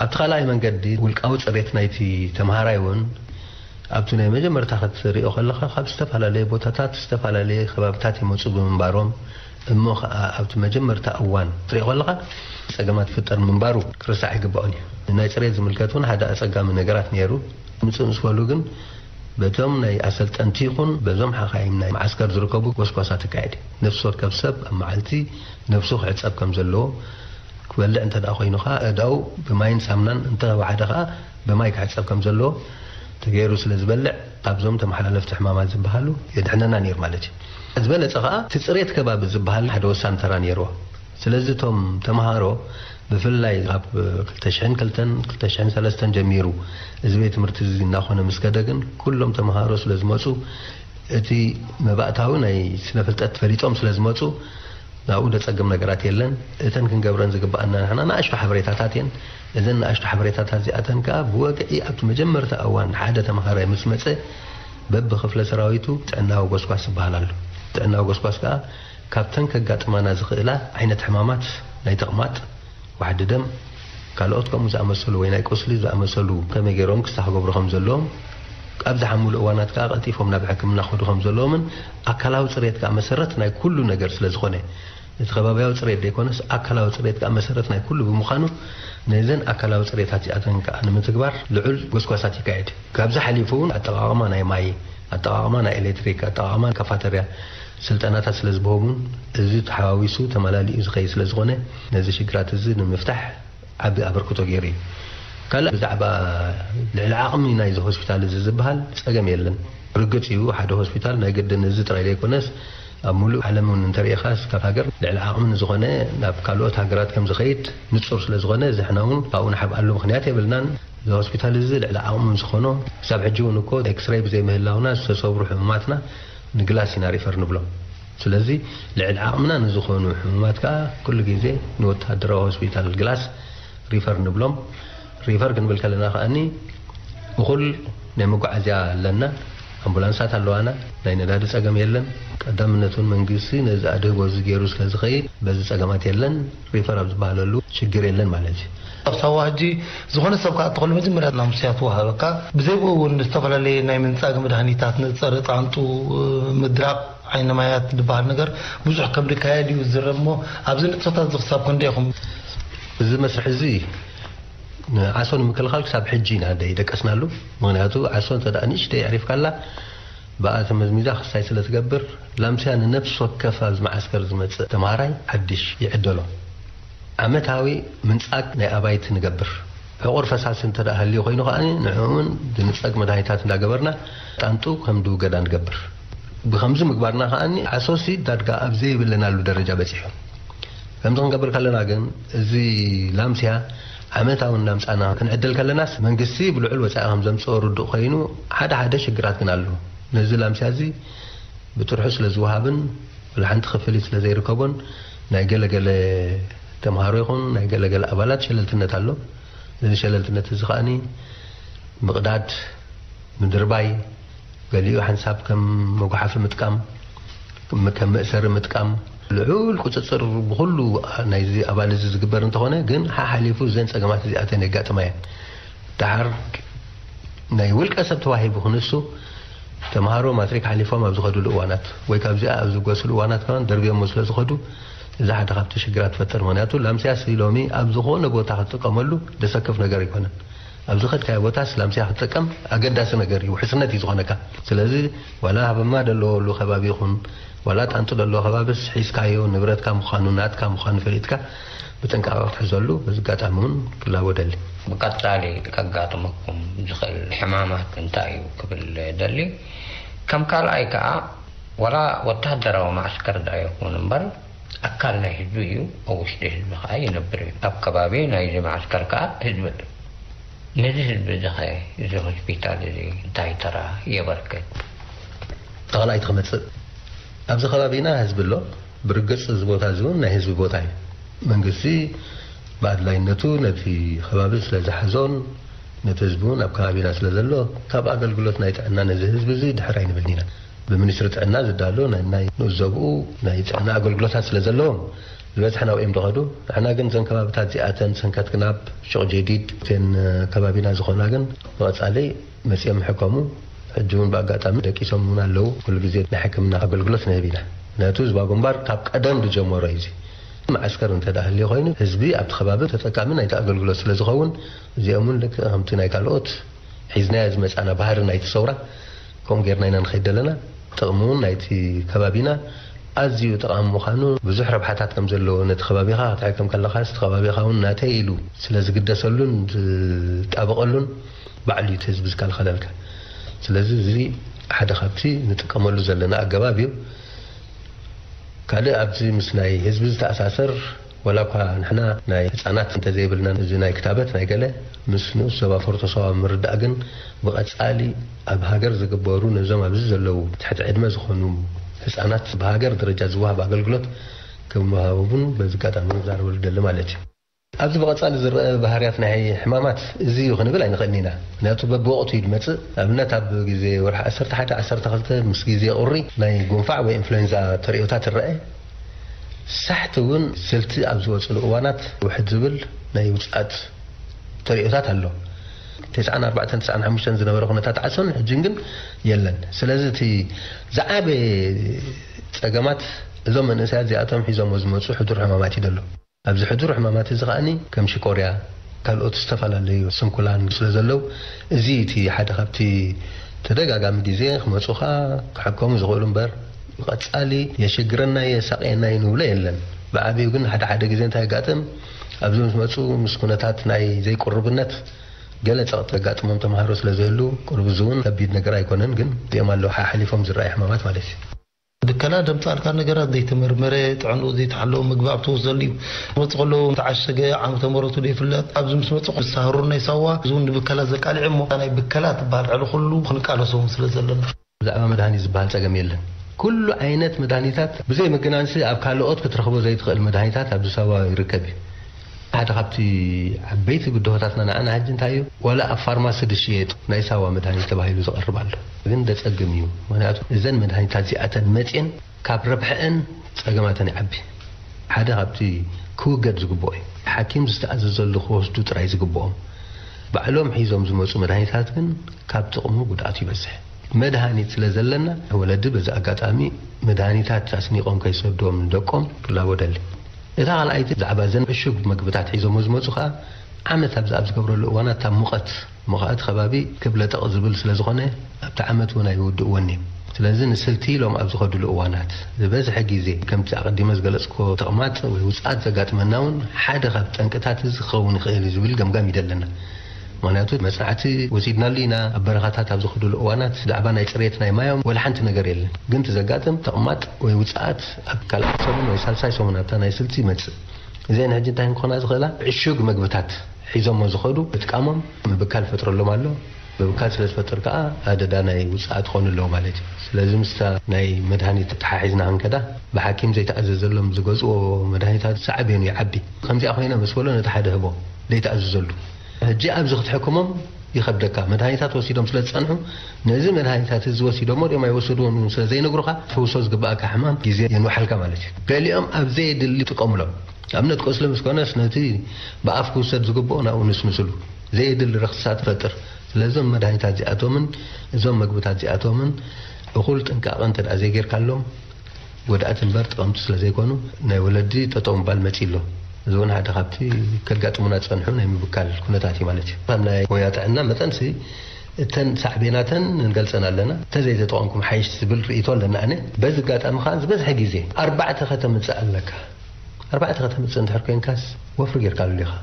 ኣብቲ ካልኣይ መንገዲ፣ ውልቃዊ ጽሬት ናይቲ ተምሃራይ እውን ኣብቲ ናይ መጀመርታ ክትሪኦ ከለኻ ካብ ዝተፈላለየ ቦታታት ዝተፈላለየ ከባብታት ይመፁ ብምንባሮም እሞ ከዓ ኣብቲ መጀመርታ እዋን ክትሪኦ ከለኻ ፀገማት ይፍጠር ምንባሩ ክርሳዕ ኣይግባኦን እዩ። ናይ ፅሬት ዝምልከት እውን ሓደ ኣፀጋሚ ነገራት ነይሩ። ምፅእ ምስ በሉ ግን በቶም ናይ ኣሰልጠንቲ ይኹን በዞም ሓኻይም ናይ መዓስከር ዝርከቡ ጎስጓሳት ይካየድ እዩ። ነፍሲ ወከፍ ሰብ ኣብ መዓልቲ ነብሱ ክሕፀብ ከም ዘለዎ፣ ክበልዕ እንተ ደኣ ኮይኑ ኸዓ እዳው ብማይን ሳምናን እንተ ወሓደ ኸዓ ብማይ ክሕፀብ ከም ዘለዎ ተገይሩ ስለ ዝበልዕ ካብዞም ተመሓላለፍቲ ሕማማት ዝበሃሉ የድሕነና ነይሩ ማለት እዩ። ዝበለፀ ኸዓ እቲ ፅሬት ከባቢ ዝበሃል ሓደ ወሳኒ ተራ ነይርዎ። ስለዚ እቶም ተምሃሮ ብፍላይ ካብ ክልተ ሽሕን ክልተን ክልተ ሽሕን ሰለስተን ጀሚሩ እዚ ቤት ትምህርቲ እዚ እናኾነ ምስ ከደ ግን ኩሎም ተምሃሮ ስለ ዝመፁ እቲ መባእታዊ ናይ ስነ ፍልጠት ፈሊጦም ስለ ዝመፁ ናብኡ ደፀግም ነገራት የለን። እተን ክንገብረን ዝግባኣና ንሕና ንኣሽቱ ሓበሬታታት እየን። እዘን ንኣሽቱ ሓበሬታታት እዚኣተን ከዓ ብወግዒ ኣብቲ መጀመርታ እዋን ሓደ ተምሃራይ ምስ መፀ በብክፍለ ሰራዊቱ ጥዕናዊ ጎስጓስ ዝበሃል ኣሎ። ጥዕናዊ ጎስጓስ ከዓ ካብተን ከጋጥማና ዝኽእላ ዓይነት ሕማማት ናይ ተቕማጥ፣ ዋሕዲ ደም፣ ካልኦት ከምኡ ዝኣመሰሉ ወይ ናይ ቁስሊ ዝኣመሰሉ ከመይ ገይሮም ክስታ ክገብሩ ከም ዘለዎም፣ ኣብ ዝሓምሉ እዋናት ከዓ ቀልጢፎም ናብ ሕክምና ክኸዱ ከም ዘለዎምን ኣካላዊ ፅሬት ከዓ መሰረት ናይ ኩሉ ነገር ስለ ዝኾነ እቲ ከባቢያዊ ፅሬት ዘይኮነስ ኣካላዊ ፅሬት ከዓ መሰረት ናይ ኩሉ ብምዃኑ ነዘን ኣካላዊ ፅሬታት እዚኣተን ከዓ ንምትግባር ልዑል ጎስጓሳት ይካየድ። ካብዚ ሓሊፉ እውን ኣጠቓቕማ ናይ ማይ፣ ኣጠቓቕማ ናይ ኤሌክትሪክ፣ ኣጠቓቕማ ካፋተርያ ስልጠናታት ስለ ዝብሆም እውን እዚ ተሓዋዊሱ ተመላሊኡ ዝኸይድ ስለ ዝኾነ ነዚ ሽግራት እዚ ንምፍታሕ ዓቢ ኣበርክቶ ገይሩ እዩ። ካልእ ብዛዕባ ልዕሊ ዓቕሚ ናይዚ ሆስፒታል እዚ ዝበሃል ጸገም የለን። ርግጽ እዩ ሓደ ሆስፒታል ናይ ግድን እዚ ጥራይ ዘይኮነስ ኣብ ሙሉእ ዓለም እውን እንተሪኢኻ ካብ ሃገር ልዕሊ ዓቕሚ ንዝኾነ ናብ ካልኦት ሃገራት ከም ዝኸይድ ንጹር ስለ ዝኾነ እዚ ሕና እውን ካብኡ ንሓብኣሉ ምኽንያት የብልናን። እዚ ሆስፒታል እዚ ልዕሊ ዓቕሙ ዝኾኖ ክሳብ ሕጂ እውን እኮ ኤክስሬይ ብዘይምህላውና ዝተሰብሩ ሕሙማትና ንግላስ ኢና ሪፈር ንብሎም። ስለዚ ልዕሊ ዓቕምና ንዝኾኑ ሕሙማት ከዓ ኩሉ ግዜ ንወታደራዊ ሆስፒታል ግላስ ሪፈር ንብሎም። ሪፈር ክንብል ከለና ከኣኒ እኹል ናይ መጓዓዝያ ኣለና፣ ኣምቡላንሳት ኣለዋና፣ ናይ ነዳዲ ጸገም የለን። ቀዳምነት እውን መንግስቲ ነዚ ኣድህቦ እዚ ገይሩ ስለ ዝኸይድ በዚ ጸገማት የለን። ሪፈር ኣብ ዝበሃለሉ ሽግር የለን ማለት እዩ። ኣብ ሳዋ ሕጂ ዝኾነ ሰብ ከዓ እተኸሉ መጀመርያ ላምስያ ትወሃበካ። ብዘይ ብኡ እውን ዝተፈላለየ ናይ ምንጻግ መድሃኒታት፣ ንጸረ ጣንጡ፣ ምድራቕ ዓይኒ ማያት ዝበሃል ነገር ብዙሕ ከም ዝካየድ እዩ ዝዝረብ። እሞ ኣብዚ ንጥፈታት እዚ ክሳብ ክንደይ ኢኹም? እዚ መስርሕ እዚ ንዓሶ ንምክልኻል ክሳብ ሕጂ ኢና ደይደቀስናሉ። ምኽንያቱ ዓሶ እንተ ደኣ ንእሽተይ ኣዕሪፍካላ ብኣ ተመዝሚዛ ክስታይ ስለ ትገብር፣ ላምስያ ንነፍሲ ወከፍ ኣብዚ መዓስከር ዝመጽእ ተምሃራይ ሓድሽ ይዕደሎ። ዓመታዊ ምንጻግ ናይ ኣባይቲ ንገብር። ዕቑር ፈሳሲ እንተ ደኣ ሃልዩ ኮይኑ ከኣ ንዕኡ እውን ዝንጸግ መድሃኒታት እንዳገበርና ጣንጡ ከም ዝውገዳ ንገብር። ብኸምዚ ምግባርና ከኣ ዓሶሲ ዳርጋ ኣብ ዘይብለናሉ ደረጃ በጺሑ። ከምዚ ክንገብር ከለና ግን እዚ ላምስያ ዓመታዊ እናምጻና ክንዕድል ከለናስ መንግስቲ ብልዑል ወጻኢ ከም ዘምጽኦ ርዱእ ኮይኑ ሓደ ሓደ ሽግራት ግን ኣሎ። ነዚ ላምስያ እዚ ብጥርሑ ስለ ዝወሃብን ወላ ሓንቲ ክፍሊት ስለ ዘይርከቦን ናይ ገለገለ ተምሃሮ ይኹን ናይ ገለገለ ኣባላት ሸለልትነት ኣሎ። እዚ ሸለልትነት እዚ ከኣኒ ምቕዳድ፣ ምድርባይ፣ ገሊኡ ሓንሳብ ከም መጉሓፊ ምጥቃም፣ ከም መእሰሪ ምጥቃም፣ ልዑል ቁፅፅር ብኹሉ ናይዚ ኣባል እዚ ዝግበር እንተኾነ ግን ሓሓሊፉ እዘን ፀገማት እዚኣተን የጋጥማ እየን። ደሓር ናይ ውልቀ ሰብ ተዋሂቡ ክንሱ ተምሃሮ ማትሪክ ሓሊፎም ኣብ ዝኸድሉ እዋናት ወይ ካብዚኣ ኣብ ዝገስሉ እዋናት ከማን ደርብዮሞ ስለ ዝኸዱ እዚ ሓደ ካብቲ ሽግራት ትፈጥር። ምክንያቱ ላምስያስ ሎሚ ኣብ ዝኾነ ቦታ ክትጥቀመሉ ደሰክፍ ነገር ኣይኮነን። ኣብ ዝኸድካዮ ቦታስ ላምስያ ክትጥቀም ኣገዳሲ ነገር እዩ፣ ውሕስነት እዩ ዝኾነካ። ስለዚ ዋላ ሃበማ ደለወሉ ከባቢ ይኹን ዋላ ጣንጡ ደለዎ ከባቢስ ሒዝካዮ ንብረትካ ምዃኑ ናትካ ምዃኑ ፈሊጥካ ብጥንቃቐ ክትሕዘሉ በዚ ኣጋጣሚ እውን ክላቦ ደሊ። ብቀጻሊ ከጋጥመኩም ዝኽእል ሕማማት እንታይ እዩ ክብል ደሊ። ከም ካልኣይ ከኣ ዋላ ወታደራዊ ማዕስከር ደኣ ይኹን እምበር ኣካል ናይ ህዝቢ እዩ፣ ኣብ ውሽጢ ህዝቢ ከኣ ይነብር እዩ። ኣብ ከባቢ ናይዚ ማዕስከር ከኣ ህዝቢ ኣሎ። ነዚ ህዝቢ እዚ ኸ እዚ ሆስፒታል እዚ እንታይ ተራ የበርክት? ተኸላኢት ክመጽእ ኣብዚ ከባቢና ህዝቢ ኣሎ። ብርግጽ እዚ ቦታ እዚ እውን ናይ ህዝቢ ቦታ እዩ። መንግስቲ ብኣድላይነቱ ነቲ ከባቢ ስለ ዝሓዞን ነቲ ህዝቢ እውን ኣብ ከባቢና ስለ ዘሎ ካብ ኣገልግሎት ናይ ጥዕና ነዚ ህዝቢ እዚ ድሕር ኣይንብልን ኢና። ብሚኒስትሪ ጥዕና ዝዳሎ ናይ ናይ ንኡስ ዘብኡ ናይ ጥዕና ኣገልግሎታት ስለ ዘለዎም ዝበዝሐ ናብኦም ዝኸዱ። ንሕና ግን እዘን ከባብታት እዚኣተን ሰንከት ክናብ፣ ሹቕ ጀዲድ፣ እተን ከባቢና ዝኾና ግን ብቐጻሊ መጺኦም ይሕከሙ። ሕጂ እውን ብኣጋጣሚ ደቂሶም እውን ኣለዉ። ኩሉ ግዜ ናይ ሕክምና ኣገልግሎት ንህብ ኢና። ምክንያቱ ህዝባዊ ግንባር ካብ ቀደም ዝጀመሮ እዩ። እዚ መዓስከር እንተ ደኣ ህልዮ ኮይኑ፣ ህዝቢ ኣብቲ ከባቢ ተጠቃሚ ናይቲ ኣገልግሎት ስለ ዝኸውን፣ እዚኦም እውን ልክዕ ከምቲ ናይ ካልኦት ሒዝናዮ ዝመጻና ባህሪ ናይቲ ሰውራ፣ ከምኡ ጌርና ኢና ንኸይድ ዘለና። ጥቕሚ እውን ናይቲ ከባቢና ኣዝዩ ጠቓሚ ምዃኑ፣ ብዙሕ ረብሓታት ከም ዘለዎ፣ ነቲ ከባቢኻ ክትሕከም ከለኻስ እቲ ከባቢኻ እውን ናተይ ኢሉ ስለ ዝግደሰሉን ዝጣበቐሉን፣ ባዕሉ እዩ እቲ ህዝቢ ዝከልኸለልካ። ስለዚ እዚ ሓደ ካብቲ ንጥቀመሉ ዘለና ኣገባብ እዩ። ካልእ ኣብዚ ምስ ናይ ህዝቢ ዝተኣሳሰር፣ ዋላ እኳ ንሕና ናይ ህፃናት እንተዘይብልናን እዚ ናይ ክታበት ናይ ገለ ምስ ንኡስ ዞባ ፎርቶ ሳዋ ምርዳእ ግን ብቐፃሊ ኣብ ሃገር ዝግበሩ ነዞም ኣብዚ ዘለዉ ትሕቲ ዕድመ ዝኾኑ ህፃናት ብሃገር ደረጃ ዝወሃብ ኣገልግሎት ከም ወሃቡ እውን በዚ ኣጋጣሚ ክዛረበሉ ደሊ ማለት እዩ። ኣብዚ ብቐጻሊ ዝረአ ባህርያት ናይ ሕማማት እዚ እዩ ክንብል ኣይንኽእልን ኢና። ምኽንያቱ በብወቕቱ እዩ ዝመጽእ። ንኣብነት ኣብ ግዜ ወርሒ ዓሰርተ ሓደ ዓሰርተ ክልተ ምስ ግዜ ቁሪ ናይ ጉንፋዕ ወይ ኢንፍሉዌንዛ ተርእዮታት ይረአ። ሳሕቲ እውን ስልቲ ኣብ ዝወጽሉ እዋናት ውሕድ ዝብል ናይ ውጽኣት ተርእዮታት ኣሎ። ተስዓን ኣርባዕተን ተስዓን ሓሙሽተን ዝነበረ ኩነታት ዓሶን ሕጅን ግን የለን። ስለዚ እቲ ዝዓበየ ጸገማት እዞም መንእሰያት እዚኣቶም ሒዞሞ ዝመጹ ሕዱር ሕማማት እዩ ዘሎ። ኣብዚ ሕዱር ሕማማት እዚ ከኣኒ ከም ሽኮርያ፣ ካልኦት ዝተፈላለዩ ስንኩላን ስለ ዘለዉ፣ እዚ እቲ ሓደ ካብቲ ተደጋጋሚ ግዜ ክመጹኻ ክሕከሙ ዝኽእሉ እምበር፣ ብቐጻሊ የሽግረና የሳቕየና እዩ ንብሎ የለን። ብዓቢኡ ግን ሓደ ሓደ ግዜ እንታይ የጋጥም፣ ኣብዚ ምስ መጹ ምስ ኩነታት ናይ ዘይቁርብነት ገለ ጸቕጢ ዘጋጥሞም ተምሃሮ ስለ ዝህሉ፣ ቁሩብ እዚ እውን ከቢድ ነገር ኣይኮነን፣ ግን እዚኦም ኣለዉ ሓሓሊፎም ዝረኣዩ ሕማማት ማለት እዩ። ብከላ ደምጻልካ ነገራት ዘይተመርመረ፣ ጥዕንኡ ዘይተሓለወ ምግቢ ኣብ ትወስደሉ እዩ። መጽእ ከሎ ተዓሸገ፣ ዓመተ ምሕረቱ ዘይፍለጥ፣ ኣብዚ ምስ መጽእ ክሳህሩ ናይ ሳዋ፣ እዚ እውን ንብከላ ዘቃልዕ እሞ፣ ናይ ብከላ ትበሃል ዕሊ ኩሉ ክንቃለሶም ስለ ዘለና። ብዛዕባ መድሃኒት ዝበሃል ጸገም የለን። ኩሉ ዓይነት መድሃኒታት ብዘይ ምግናንሲ ኣብ ካልኦት ክትረኽቦ ዘይትኽእል መድሃኒታት ኣብዚ ሳዋ ይርከብ እዩ። ሓደ ካብቲ ዓበይቲ ብድሆታትና ንዓና ሕጂ እንታይ እዩ? ዋላ ኣብ ፋርማሲ ዝሽየጥ ናይ ሳዋ መድሃኒት ተባሂሉ ዝቐርብ ኣሎ። ግን ደጸግም እዩ። ምኽንያቱ እዘን መድሃኒታት እዚኣተን መጽየን ካብ ረብሐአን ጸገማተን ይዓቢ። ሓደ ካብቲ ክውገድ ዝግብኦ እዩ። ሓኪም ዝተኣዘዘሉ ክወስዱ ጥራይ ዝግብኦም። ባዕሎም ሒዞም ዝመጹ መድሃኒታት ግን ካብ ጥቕሙ ጉድኣቱ ይበዝሕ። መድሃኒት ስለ ዘለና፣ ወለዲ በዚ ኣጋጣሚ መድሃኒታት ኣስኒቖም ከይሰድዎም ንደቆም ክላቦ ደሊ። እታ ካልኣይቲ ብዛዕባ እዘን ዕሹግ መግብታት ሒዞሞ ዝመጹ ከኣ፣ ዓመት ኣብዚ ኣብ ዝገብረሉ እዋናት፣ እታ ሙቐት፣ ሙቐት ከባቢ ክብለጠቕ ዝብል ስለ ዝኾነ፣ ኣብቲ ዓመት እውን ኣይውድእዎን እዮም። ስለዚ ንስልቲ ኢሎም ኣብ ዝኸድሉ እዋናት፣ ዝበዝሐ ግዜ ከምቲ ኣቐዲመ ዝገለጽኩዎ ተቕማጥ ወይ ውጽኣት ዘጋጥመና እውን ሓደ ካብ ጠንቅታት እዚ ክኸውን ይኽእል እዩ ዝብል ገምጋም እዩ ዘለና። ምኽንያቱ መጽናዕቲ ወሲድናሉ ኢና። ኣብ በረኻታት ኣብ ዝኸድሉ እዋናት ብዛዕባ ናይ ጽሬት ናይ ማዮም ወላ ሓንቲ ነገር የለን። ግን እቲ ዘጋጥም ተቕማጥ ወይ ውጽኣት ኣብ ካልኣይ ሰሙን ወይ ሳልሳይ ሰሙን ኣብታ ናይ ስልቲ ይመጽእ። እዚአን ሕጂ እንታይ ክኾና ዝኽእላ? ዕሹግ መግብታት ሒዞሞ ዝኸዱ ምጥቃሞም ምብካል ፈጥረሎም ኣሎ። ምብካል ስለ ዝፈጥር ከኣ ኣደዳ ናይ ውጽኣት ክኾኑ ኣለዎ ማለት እዩ። ስለዚ ምስታ ናይ መድሃኒት ተተሓሒዝና ክንከዳ፣ ብሓኪም ዘይተኣዘዘሎም ዝገዝኦ መድሃኒታት ሳዕቤኑ ይዓቢ። ከምዚኣ ኮይና ምስ በሎ ነቲ ሓደ ህቦ ዘይተኣዘዘሉ። ሕጂ ኣብዚ ክትሕክሞም ይኸብደካ። መድሃኒታት ወሲዶም ስለ ዝጸንሑ፣ ነዚ መድሃኒታት እዚ ወሲዶሞ ድዮም ኣይወሰድዎን እውን ስለ ዘይነግሩኻ፣ ትፍውሶ ዝግብኣካ ሕማም ግዜ የንውሓልካ ማለት እዩ። ገሊኦም ኣብ ዘየድሊ ይጥቀሙሎም። ኣብነት ቁስሊ ምስ ኮነስ ነቲ ብኣፍ ክውሰድ ዝግብኦ ናብኡ ንስንስሉ። ዘየድሊ ረኽስታት ይፈጥር። ስለዚ እዞም መድሃኒታት እዚኣቶምን እዞም መግብታት እዚኣቶምን እኹል ጥንቃቐ እንተ ደኣ ዘይጌርካሎም፣ ጎዳእቲ እምበር ጠቐምቲ ስለ ዘይኮኑ፣ ናይ ወለዲ ጠጠው ምባል መጺእ ኣሎ። እዚ እውን ሓደ ካብቲ ከጋጥሙና ዝጸንሑ ናይ ምብካል ኩነታት እዩ ማለት እዩ። ከም ናይ ሞያ ጥዕና መጠንሲ፣ እተን ሳዕቤናተን ንገልጸን ኣለና። እንተዘይተጠቐምኩም ሓይሽ ዝብል ርእይቶ ኣለና ኣነ። በዚ ኣጋጣሚ ከኣ ዝበዝሐ ግዜ ኣርባዕተ ከተምጽእ ኣለካ። ኣርባዕተ ከተምጽእ እንድሕር ኮይንካስ ወፍሪ ጌርካሉ ኢኻ።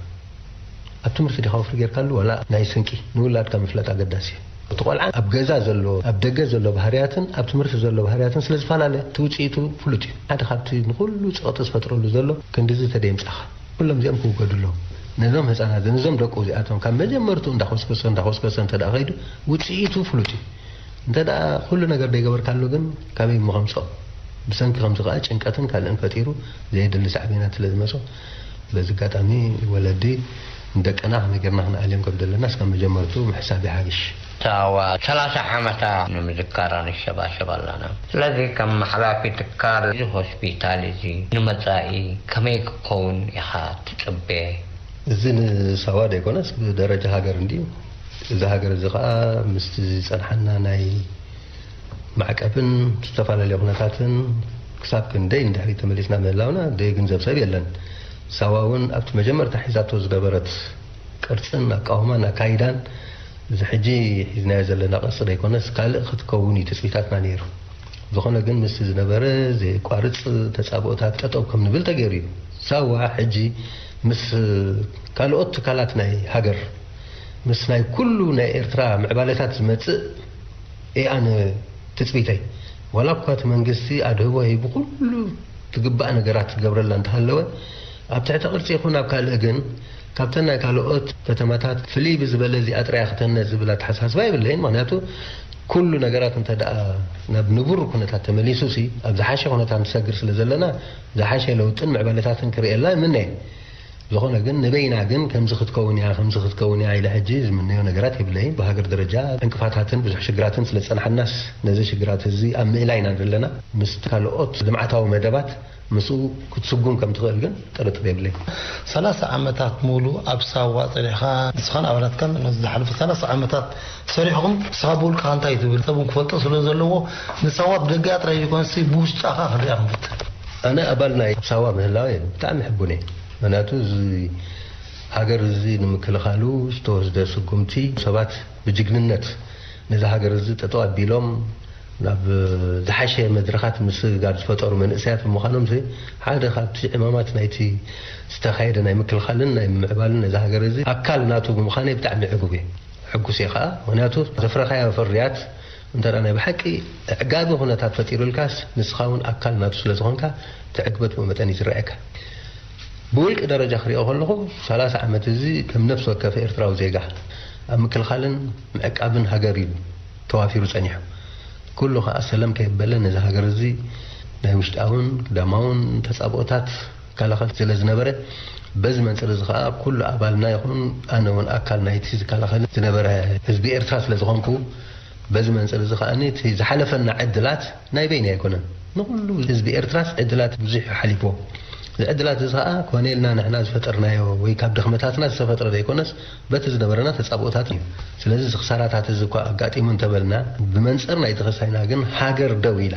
ኣብ ትምህርቲ ዲኻ ወፍሪ ጌርካሉ ዋላ ናይ ስንቂ ንውላድካ ምፍላጥ ኣገዳሲ እዩ። እቲ ቆልዓ ኣብ ገዛ ዘሎ፣ ኣብ ደገ ዘሎ ባህርያትን ኣብ ትምህርቲ ዘሎ ባህርያትን ስለ ዝፈላለ፣ እቲ ውጽኢቱ ፍሉጥ እዩ። ሓደ ካብቲ ንኹሉ ጸቕጢ ዝፈጥረሉ ዘሎ ክንድዚ ተደይምጻኻ። ኩሎም እዚኦም ክውገዱ ኣለዎም። ነዞም ህጻናት፣ ነዞም ደቁ እዚኣቶም ካብ መጀመርቱ እንዳኾስኮሰ፣ እንዳኾስኮሰ እንተ ደኣ ኸይዱ፣ ውጽኢቱ ፍሉጥ እዩ። እንተ ደኣ ኩሉ ነገር ደይገበርካሉ ግን ካበይ እሞ ከምጽኦ? ብሰንኪ ከምዚ ከኣ ጭንቀትን ካልእን ፈጢሩ ዘየድሊ ሳዕቤናት ስለ ዝመጾ፣ በዚ ኣጋጣሚ ወለዲ ንደቅና ከመይ ጌርና ክንኣልዮም ከም ዘለና እስካብ መጀመርቱ ምሕሳብ ይሓይሽ። ሳዋ ሰላሳ ዓመታ ንምዝካራ ንሸባሸብ ኣለና። ስለዚ ከም ሓላፊ ትካል እዚ ሆስፒታል እዚ ንመጻኢ ከመይ ክኸውን ኢኻ ትጽበ? እዚ ንሳዋ ዘይኮነስ ብደረጃ ሃገር እንድዩ። እዚ ሃገር እዚ ከዓ ምስቲ ዝፀንሓና ናይ ማዕቀብን ዝተፈላለዩ ኩነታትን ክሳብ ክንደይ ንድሕሪት ተመሊስና ምህላውና ዘይግንዘብ ሰብ የለን። ሳዋ እውን ኣብቲ መጀመርታ ሒዛቶ ዝነበረት ቅርፅን ኣቃውማን ኣካይዳን እዚ ሕጂ ሒዝናዮ ዘለና ቅርፂ ዘይኮነስ ካልእ ክትከውን እዩ ትፅቢታትና ነይሩ። ዝኾነ ግን ምስቲ ዝነበረ ዘየቋርፅ ተፃብኦታት ጠጠው ከም ንብል ተገይሩ እዩ። ሳዋ ሕጂ ምስ ካልኦት ትካላት ናይ ሃገር ምስ ናይ ኩሉ ናይ ኤርትራ ምዕባለታት ዝመጽእ እየ ኣነ ትጽቢተይ። ዋላ እኳ እቲ መንግስቲ ኣድህቦ ሂቡ ኩሉ ትግባእ ነገራት ዝገብረላ እንተሃለወ፣ ኣብ ትሕቲ ቅርጺ ይኹን ኣብ ካልእ ግን ካብተን ናይ ካልኦት ከተማታት ፍልይ ብዝበለ እዚኣ ጥራይ ክትህነጽ ዝብል ኣተሓሳስባ የብለይን። ምኽንያቱ ኩሉ ነገራት እንተ ደኣ ናብ ንቡር ኩነታት ተመሊሱ ሲ ኣብ ዝሓሸ ኩነታት ንሰግር ስለ ዘለና ዝሓሸ ለውጥን ምዕባለታትን ክርእየላ እምነ እየ። ዝኾነ ግን ንበይና ግን ከምዚ ክትከውን እያ ከምዚ ክትከውን እያ ኢለ ሕጂ ዝምነዮ ነገራት የብለይን። ብሃገር ደረጃ ዕንቅፋታትን ብዙሕ ሽግራትን ስለ ዝጸንሓናስ ነዚ ሽግራት እዚ ኣብ ምእላይ ኢና ዘለና። ምስ ካልኦት ልምዓታዊ መደባት ምስኡ ክትስጉም ከም ትኽእል ግን ጥርጥር የብለይን። ሰላሳ ዓመታት ሙሉ ኣብ ሳዋ ጸኒሕካ ንስኻን ኣባላትካን ነዚ ዝሓለፈ ሰላሳ ዓመታት ሰሪሕኹም ንስኻ ብውልቅኻ እንታይ ትብል ሰብ እውን ክፈልጦ ስለ ዘለዎ ንሳዋ ብደገ ጥራይ ዘይኮነሲ ብውሽጣኻ ክንሪኣ ክንፍትን። ኣነ ኣባል ናይ ሳዋ ምህላወ ብጣዕሚ ሕቡን እየ። ምክንያቱ እዚ ሃገር እዚ ንምክልኻሉ ዝተወስደ ስጉምቲ ሰባት ብጅግንነት ነዚ ሃገር እዚ ጠጠው ኣቢሎም ናብ ዝሓሸ መድረኻት ምስግጋር ዝፈጠሩ መንእሰያት ብምዃኖም ሲ ሓደ ካብቲ ዕማማት ናይቲ ዝተኻየደ ናይ ምክልኻልን ናይ ምምዕባልን ነዚ ሃገር እዚ ኣካል ናቱ ብምዃነይ ብጣዕሚ ዕጉብ እየ። ሕጉስ እየ ከዓ ምክንያቱ ዘፍረኻዮ ፍርያት እንተ ናይ ብሓቂ ኣዕጋቢ ኩነታት ፈጢሩልካስ ንስኻ እውን ኣካል ናቱ ስለ ዝኾንካ ትዕግበት ብኡ መጠን እዩ ዝረኣየካ። ብውልቂ ደረጃ ክሪኦ ከለኹ ሰላሳ ዓመት እዚ ከም ነፍሲ ወከፍ ኤርትራዊ ዜጋ ኣብ ምክልኻልን ምዕቃብን ሃገር እዩ ተዋፊሩ ጸኒሑ። ኩሉ ከዓ ሰለም ከየበለ ነዚ ሃገር እዚ ናይ ውሽጣውን ግዳማውን ተጻብኦታት ይከላኸል ስለ ዝነበረ በዚ መንፅር እዚ ከዓ ኩሉ ኣባልና ይኹን ኣነ እውን ኣካል ናይቲ ዝከላኸል ዝነበረ ህዝቢ ኤርትራ ስለ ዝኾንኩ በዚ መንፅር እዚ ከዓ እቲ ዝሓለፈና ዕድላት ናይ በይኒ ኣይኮነን። ንኹሉ ህዝቢ ኤርትራስ ዕድላት ብዙሕ ሓሊፍዎ። እዚ ዕድላት እዚ ከዓ ኮነ ኢልና ንሕና ዝፈጠርናዮ ወይ ካብ ድኽመታትና ዝተፈጥረ ዘይኮነስ በቲ ዝነበረና ተጻብኦታት እዩ። ስለዚ እዚ ክሳራታት እዚ እኳ ኣጋጢሙ እንተበልና ብመንፅር ናይቲ ክሳይና ግን ሃገር ደው ኢላ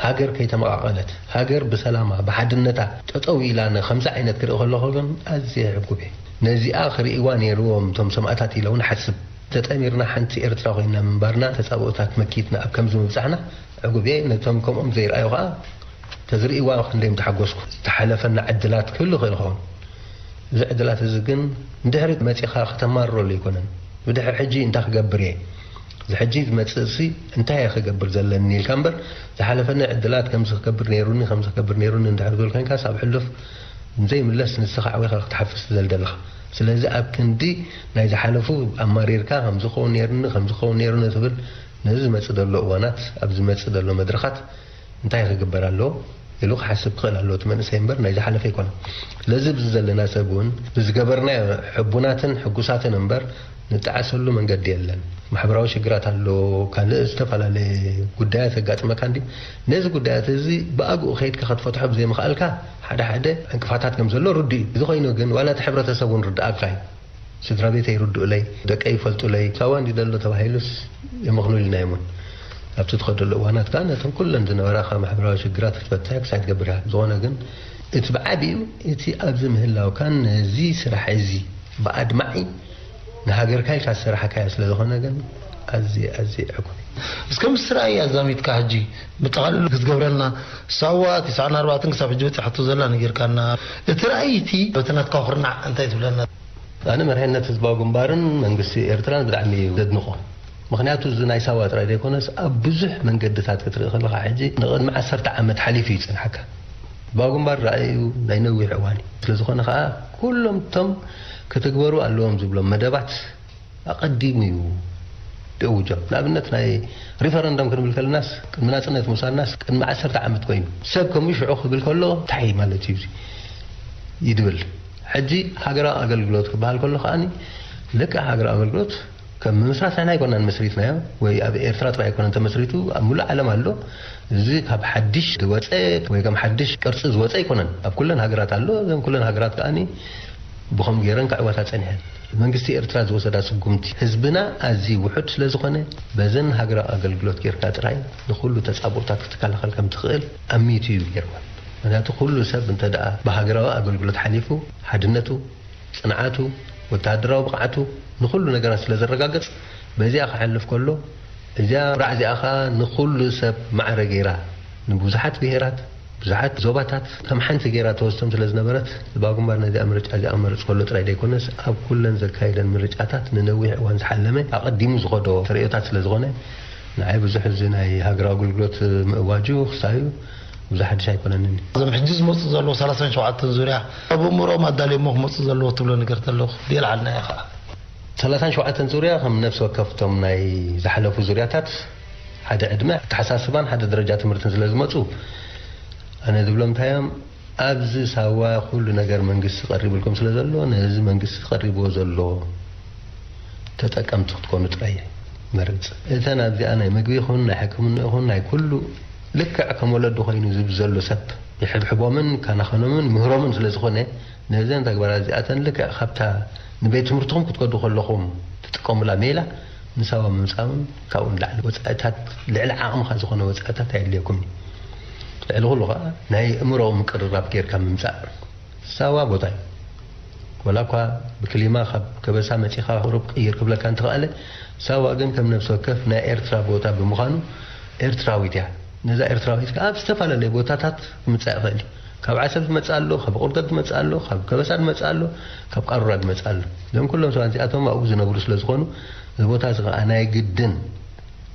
ሃገር ከይተመቓቐለት ሃገር ብሰላማ ብሓድነታ ጠጠው ኢላ ንከምዚ ዓይነት ክርኢ ከለኹ ግን ኣዝየ ሕጉብ እየ። ነዚኣ ክርእይዋ ነይርዎም እቶም ሰማእታት ኢለ እውን ሓስብ። ተጠሚርና ሓንቲ ኤርትራ ኮይና ምንባርና ተጻብኦታት መኪትና ኣብ ከምዚ ምብጻሕና ዕጉብ እየ። ነቶም ከምኦም ዘይረኣዩ ከዓ ተዝርእይዋ ክንደይ ምተሓጎስኩ። ዝተሓለፈና ዕድላት ክህሉ ይኽእል ይኸውን። እዚ ዕድላት እዚ ግን ንድሕሪት መጺኻ ከተማርረሉ ኣይኮነን። ብድሕሪ ሕጂ እንታይ ክገብር እየ? እዚ ሕጂ ዝመጽእ ሲ እንታይ እየ ክገብር ዘለኒ ኢልካ እምበር ዝሓለፈኒ ዕድላት ከምዚ ክገብር ነይሩኒ ከምዚ ክገብር ነይሩኒ እንድሕር ትብል ኮይንካስ ኣብ ሕሉፍ ዘይምለስ ንስኻ ዓዊኻ ክትሓፍስ ትደል ዘለኻ። ስለዚ ኣብ ክንዲ ናይ ዝሓለፉ ኣማሪርካ ከምዚ ክኸውን ነይሩኒ ከምዚ ክኸውን ነይሩኒ ትብል ነዚ ዝመጽእ ዘሎ እዋናት ኣብ ዝመጽእ ዘሎ መድረኻት እንታይ ክግበር ኣለዎ ኢሉ ክሓስብ ክኽእል ኣለዎ እቲ መንእሰይ እምበር ናይ ዝሓለፈ ኣይኮነን። ስለዚ ኣብዚ ዘለና ሰብ እውን ብዝገበርናዮ ሕቡናትን ሕጉሳትን እምበር ንጠዓሰሉ መንገዲ የለን። ማሕበራዊ ሽግራት ኣሎ፣ ካልእ ዝተፈላለየ ጉዳያት የጋጥመካ እንዲ ነዚ ጉዳያት እዚ ብኣግኡ ከይድካ ክትፈትሖ ብዘይምኽኣልካ ሓደ ሓደ ዕንቅፋታት ከም ዘሎ ርዱእ እዩ። እዚ ኮይኑ ግን ዋላ እቲ ሕብረተሰብ እውን ርድኣካ እዩ። ስድራ ቤተይ ይርድኡለይ፣ ደቀይ ይፈልጡለይ፣ ሳዋ እንዲ ዘሎ ተባሂሉስ የመኽኑልና እዮም እውን። ኣብቲ ትኸደሉ እዋናት ከዓ ነተን ኩለን ዝነበራኻ ማሕበራዊ ሽግራት ክትፈትሕ ክሳይ ትገብር ኢኻ። ዝኾነ ግን እቲ ብዓቢኡ እቲ ኣብዚ ምህላውካን ነዚ ስራሕ እዚ ብኣድማዒ ንሃገርካ ኢልካ ዝሰራሕካዮ ስለ ዝኾነ ግን ኣዝየ ኣዝየ ዕጉብ እየ። እስከ ምስ ራእይ ኣዛሚድካ ሕጂ ብጠቓልሉ ክትገብረልና ሳዋ ትስዓን ኣርባዕተን ክሳብ ሕጂ በፂሓቶ ዘላ ነጊርካና እቲ ራእይ እቲ በቲ ናትካ ኩርናዕ እንታይ ትብለና? ኣነ መርሕነት ህዝባዊ ግንባርን መንግስቲ ኤርትራን ብጣዕሚ እዩ ዘድንቖ። ምኽንያቱ እዚ ናይ ሳዋ ጥራይ ዘይኮነስ ኣብ ብዙሕ መንገድታት ክትርኢ ከለኻ ሕጂ ንቕድሚ ዓሰርተ ዓመት ሓሊፉ እዩ ዝጸንሓካ። ህዝባዊ ግንባር ራእዩ ናይ ነዊሕ እዋን እዩ። ስለ ዝኾነ ኸኣ ኩሎም እቶም ክትግበሩ ኣለዎም ዝብሎም መደባት ኣቐዲሙ እዩ ደእውጆም። ንኣብነት ናይ ሪፈረንደም ክንብል ከለናስ ቅድሚ ናጽነት ምውሳድናስ ቅድሚ ዓሰርተ ዓመት ኮይኑ ሰብ ከምኡ ሽዑ ክብል ከሎ እንታይ ማለት እዩ እዚ ይድብል። ሕጂ ሃገራዊ ኣገልግሎት ክበሃል ከሎ ከኣኒ ልክዕ ሃገራዊ ኣገልግሎት ከም ምምስራት ንሕና ኣይኮናን መስሪትናዮ ወይ ኣብ ኤርትራ ጥራይ ኣይኮነን ተመስሪቱ ኣብ ሙሉእ ዓለም ኣሎ። እዚ ካብ ሓድሽ ዝወፀ ወይ ከም ሓድሽ ቅርፂ ዝወፀ ኣይኮነን። ኣብ ኩለን ሃገራት ኣሎ። እዘን ኩለን ሃገራት ከኣኒ ብኸም ገይረን ክዕወታ ጸኒሐን። መንግስቲ ኤርትራ ዝወሰዳ ስጉምቲ ህዝብና ኣዝዩ ውሑድ ስለ ዝኾነ፣ በዘን ሃገራዊ ኣገልግሎት ጌርካ ጥራይ ንኹሉ ተጻብኦታት ክትከላኸል ከም ትኽእል ኣሚቱ እዩ ገይርዋ። ምኽንያቱ ኩሉ ሰብ እንተ ደኣ ብሃገራዊ ኣገልግሎት ሓሊፉ፣ ሓድነቱ፣ ጽንዓቱ፣ ወተሃደራዊ ብቕዓቱ፣ ንኹሉ ነገራት ስለ ዘረጋግጽ፣ በዚኣ ክሓልፍ ከሎ፣ እዚኣ ኩራዕ እዚኣ ኸኣ ንኹሉ ሰብ ማዕረ ገይራ፣ ንብዙሓት ብሄራት፣ ብዙሓት ዞባታት ከም ሓንቲ ገይራ ተወስዶም ስለ ዝነበረት፣ ህዝባዊ ግንባር ነዚኣ ምርጫ እዚኣ ክመርጽ ከሎ ጥራይ ዘይኮነስ፣ ኣብ ኩለን ዘካየደን ምርጫታት ንነዊሕ እዋን ዝሓለመ፣ ኣቐዲሙ ዝኸዶ ተርእዮታት ስለ ዝኾነ፣ ንዓይ ብዙሕ እዚ ናይ ሃገራዊ ኣገልግሎት ምእዋጁ ክሳዩ ብዙሕ ሓድሽ ኣይኮነንን። እዞም ሕጂ ዝመጹ ዘለዉ ሰላሳን ሸውዓተን ዙርያ፣ ኣብ እምሮኦም ኣዳልዮሞ ክመጹ ዘለዎ ትብሎ ነገር ተሎ፣ የልዓልና ኢኻ። ሰላሳን ሸውዓተን ዙርያ ከም ነፍሲ ወከፍቶም ናይ ዝሓለፉ ዙርያታት ሓደ ዕድመ ኣተሓሳስባን ሓደ ደረጃ ትምህርትን ስለ ዝመጹ፣ ኣነ ዝብሎም እንታይ እዮም፣ ኣብዚ ሳዋ ኩሉ ነገር መንግስቲ ቀሪቡልኩም ስለ ዘሎ፣ ነዚ መንግስቲ ቀሪብዎ ዘሎ ተጠቀምቲ ክትኮኑ ጥራይ እየ መርጽ። እተን ኣብዚኣ ናይ ምግቢ ይኹን ናይ ሕክምና ይኹን ናይ ኩሉ ልክዕ ከም ወለዱ ኮይኑ ዝብ ዘሎ ሰብ ይሕብሕቦምን ካናኸኖምን ምህሮምን ስለ ዝኾነ፣ ነዘን ተግባራት እዚኣተን ልክዕ ካብታ ንቤት ትምህርትኹም ክትከዱ ከለኹም ትጥቀሙላ ሜላ ንሳዋ ምምጻእን ካብኡ ንላዕሊ ወጻኢታት፣ ልዕሊ ዓቕምኻ ዝኾነ ወጻኢታት ኣየድልየኩምን እዩ። ልዕሊ ኩሉ ኸኣ ናይ እምሮ ምቅርራብ ጌርካ ምምጻእ። ሳዋ ቦታ እዩ። ወላ እኳ ብክሊማ ካብ ከበሳ መጺኻ ቁሩብ ቅይር ክብለካ እንተኸኣለ፣ ሳዋ ግን ከም ነፍሲ ወከፍ ናይ ኤርትራ ቦታ ብምዃኑ ኤርትራዊት እያ። ነዛ ኤርትራዊት ከኣ ኣብ ዝተፈላለየ ቦታታት ክምጻእ ይኽእል እዩ። ካብ ዓሰብ ዝመጽእ ኣሎ፣ ካብ ቁርደት ዝመጽእ ኣሎ፣ ካብ ከበሳ ዝመጽእ ኣሎ፣ ካብ ቃሩራ ዝመጽእ ኣሎ። እዞም ኩሎም ሰባት እዚኣቶም ኣብኡ ዝነብሩ ስለ ዝኾኑ፣ እዚ ቦታ እዚ ከኣ ናይ ግድን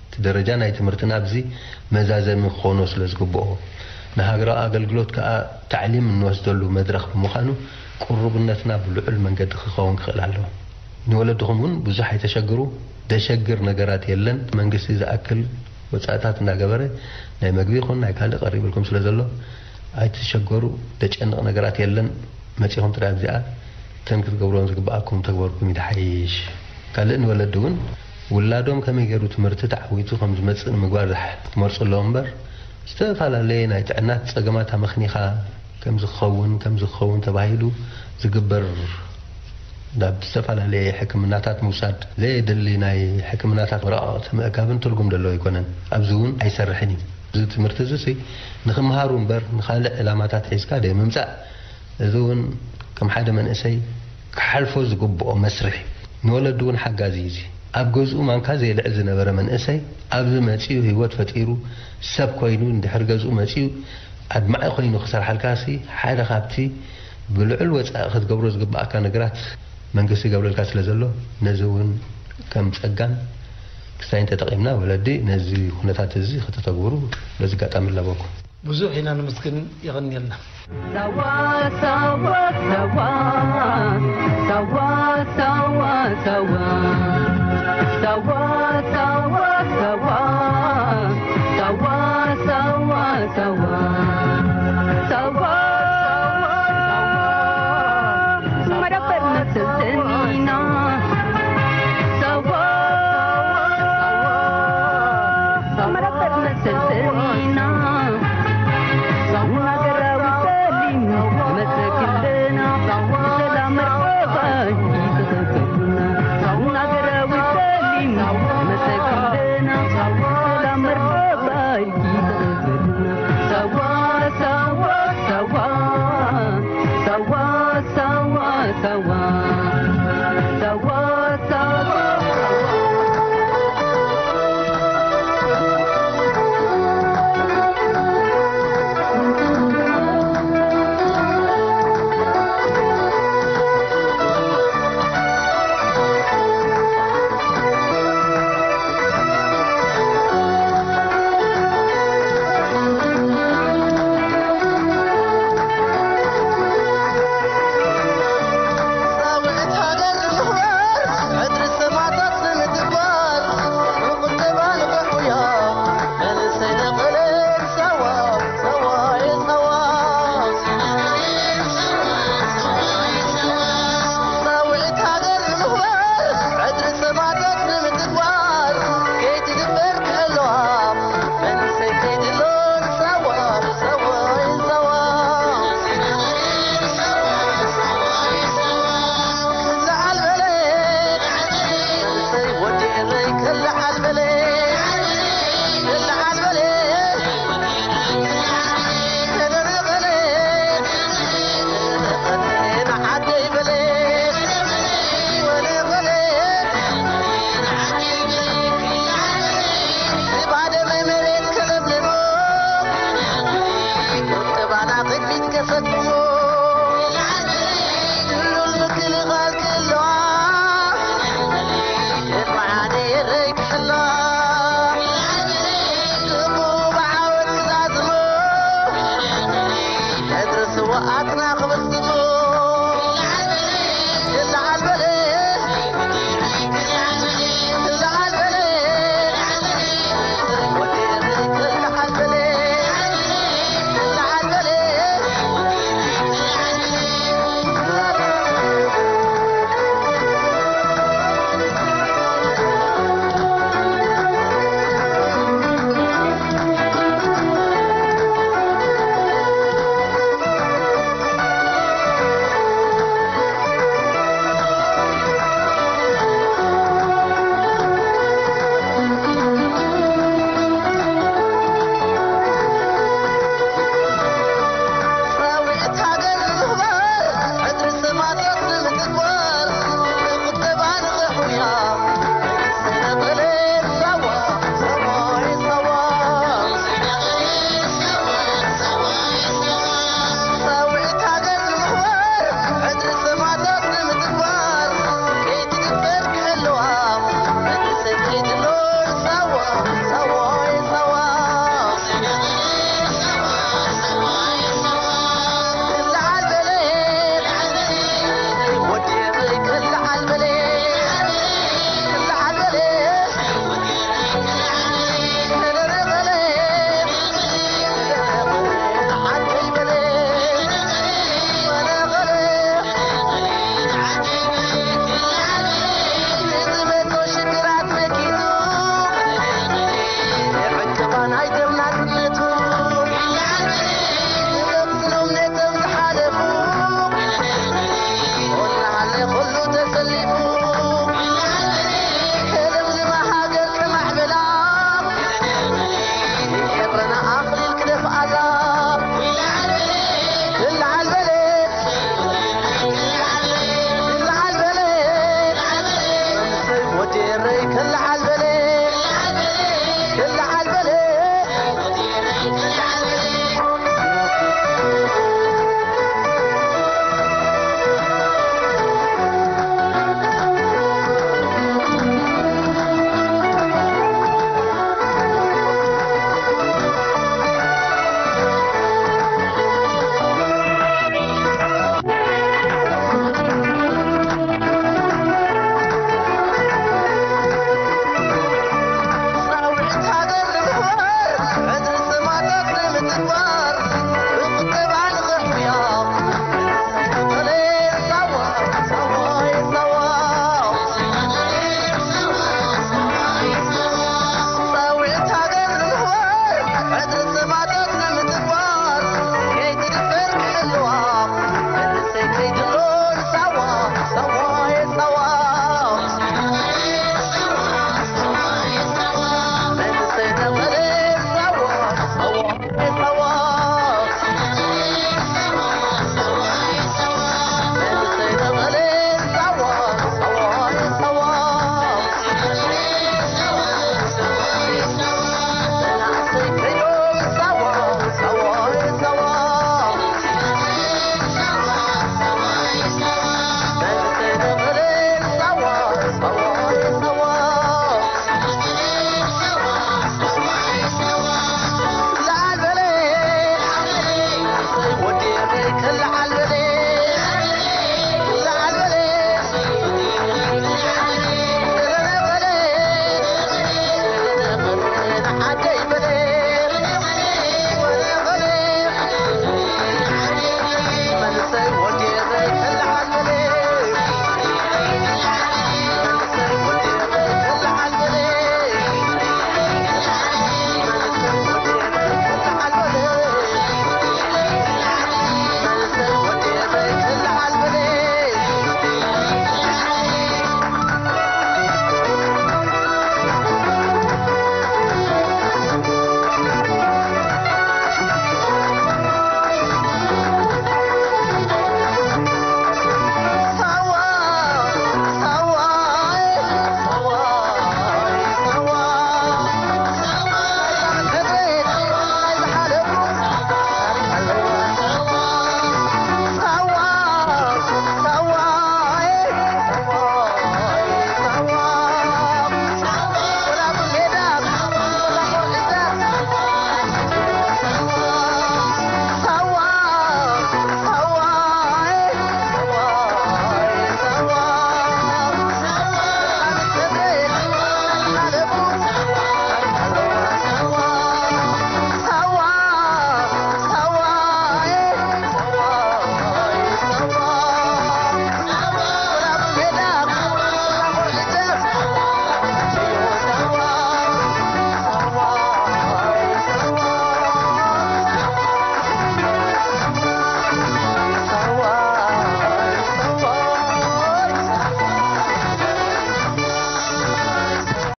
እቲ ደረጃ ናይ ትምህርትና ኣብዚ መዛዘሚ ክኾኖ ስለ ዝግብኦ፣ ንሃገራዊ ኣገልግሎት ከኣ ታዕሊም እንወስደሉ መድረኽ ብምዃኑ፣ ቅሩብነትና ብልዑል መንገዲ ክኸውን ክኽእል ኣለዎ። ንወለድኹም እውን ብዙሕ ኣይተሸግሩ፣ ደሸግር ነገራት የለን። መንግስቲ ዝኣክል ወጻእታት እናገበረ ናይ መግቢ ይኹን ናይ ካልእ ቀሪብልኩም ስለ ዘሎ ኣይትሸገሩ፣ ደጨንቕ ነገራት የለን። መጺኹም ጥራይ ኣብዚኣ እተን ክትገብሮን ዝግብኣኩም ተግበርኩም እዩ ዝሓይሽ። ካልእ ንወለዲ እውን ውላዶም ከመይ ገይሩ ትምህርቲ ተዓዊቱ ከም ዝመጽእ ንምግባር ዝሓ-፣ ክመርጹ ኣለዎም እምበር፣ ዝተፈላለየ ናይ ጥዕና ጸገማት ኣመኽኒኻ ከም ዝኸውን፣ ከም ዝኸውን ተባሂሉ ዝግበር ናብ ዝተፈላለየ ሕክምናታት ምውሳድ፣ ዘየድሊ ናይ ሕክምናታት ወረቓቕቲ ምእካብን ትርጉም ዘለዎ ኣይኮነን። ኣብዚ እውን ኣይሰርሕን እዩ። እዚ ትምህርቲ እዚ ሲ ንኽምሃሩ እምበር ንኻልእ ዕላማታት ሒዝካ ደይ ምምጻእ፣ እዚ እውን ከም ሓደ መንእሰይ ክሓልፎ ዝግብኦ መስርሕ እዩ። ንወለዲ እውን ሓጋዚ እዩ እዚ። ኣብ ገዝኡ ማንካ ዘየልዕል ዝነበረ መንእሰይ ኣብዚ መጺኡ ህይወት ፈጢሩ ሰብ ኮይኑ እንድሕር ገዝኡ መጺኡ ኣድማዒ ኮይኑ ክሰርሓልካ ሲ ሓደ ካብቲ ብልዑል ወጻኢ ክትገብሮ ዝግብኣካ ነገራት መንግስቲ ይገብረልካ ስለ ዘሎ ነዚ እውን ከም ጸጋን ክሳይን ተጠቒምና ወለዲ ነዚ ኩነታት እዚ ከተተግብሩ በዚ ኣጋጣሚ እላበወኩም። ብዙሕ ኢና ነመስግን፣ የቐንየልና። ሳዋ ሳዋ ሳዋ ሳዋ ሳዋ ሳዋ ሳዋ ሳዋ ሳዋ ሳዋ ሳዋ ሳዋ ሳዋ መደበር መሰልጠኒና ሳዋ መደበር መሰልጠኒና እናገራዊ ሰሊም መሰክልና ሰላም መርቀባይ ይተኸከልና እናገራዊ ሰሊም መሰክ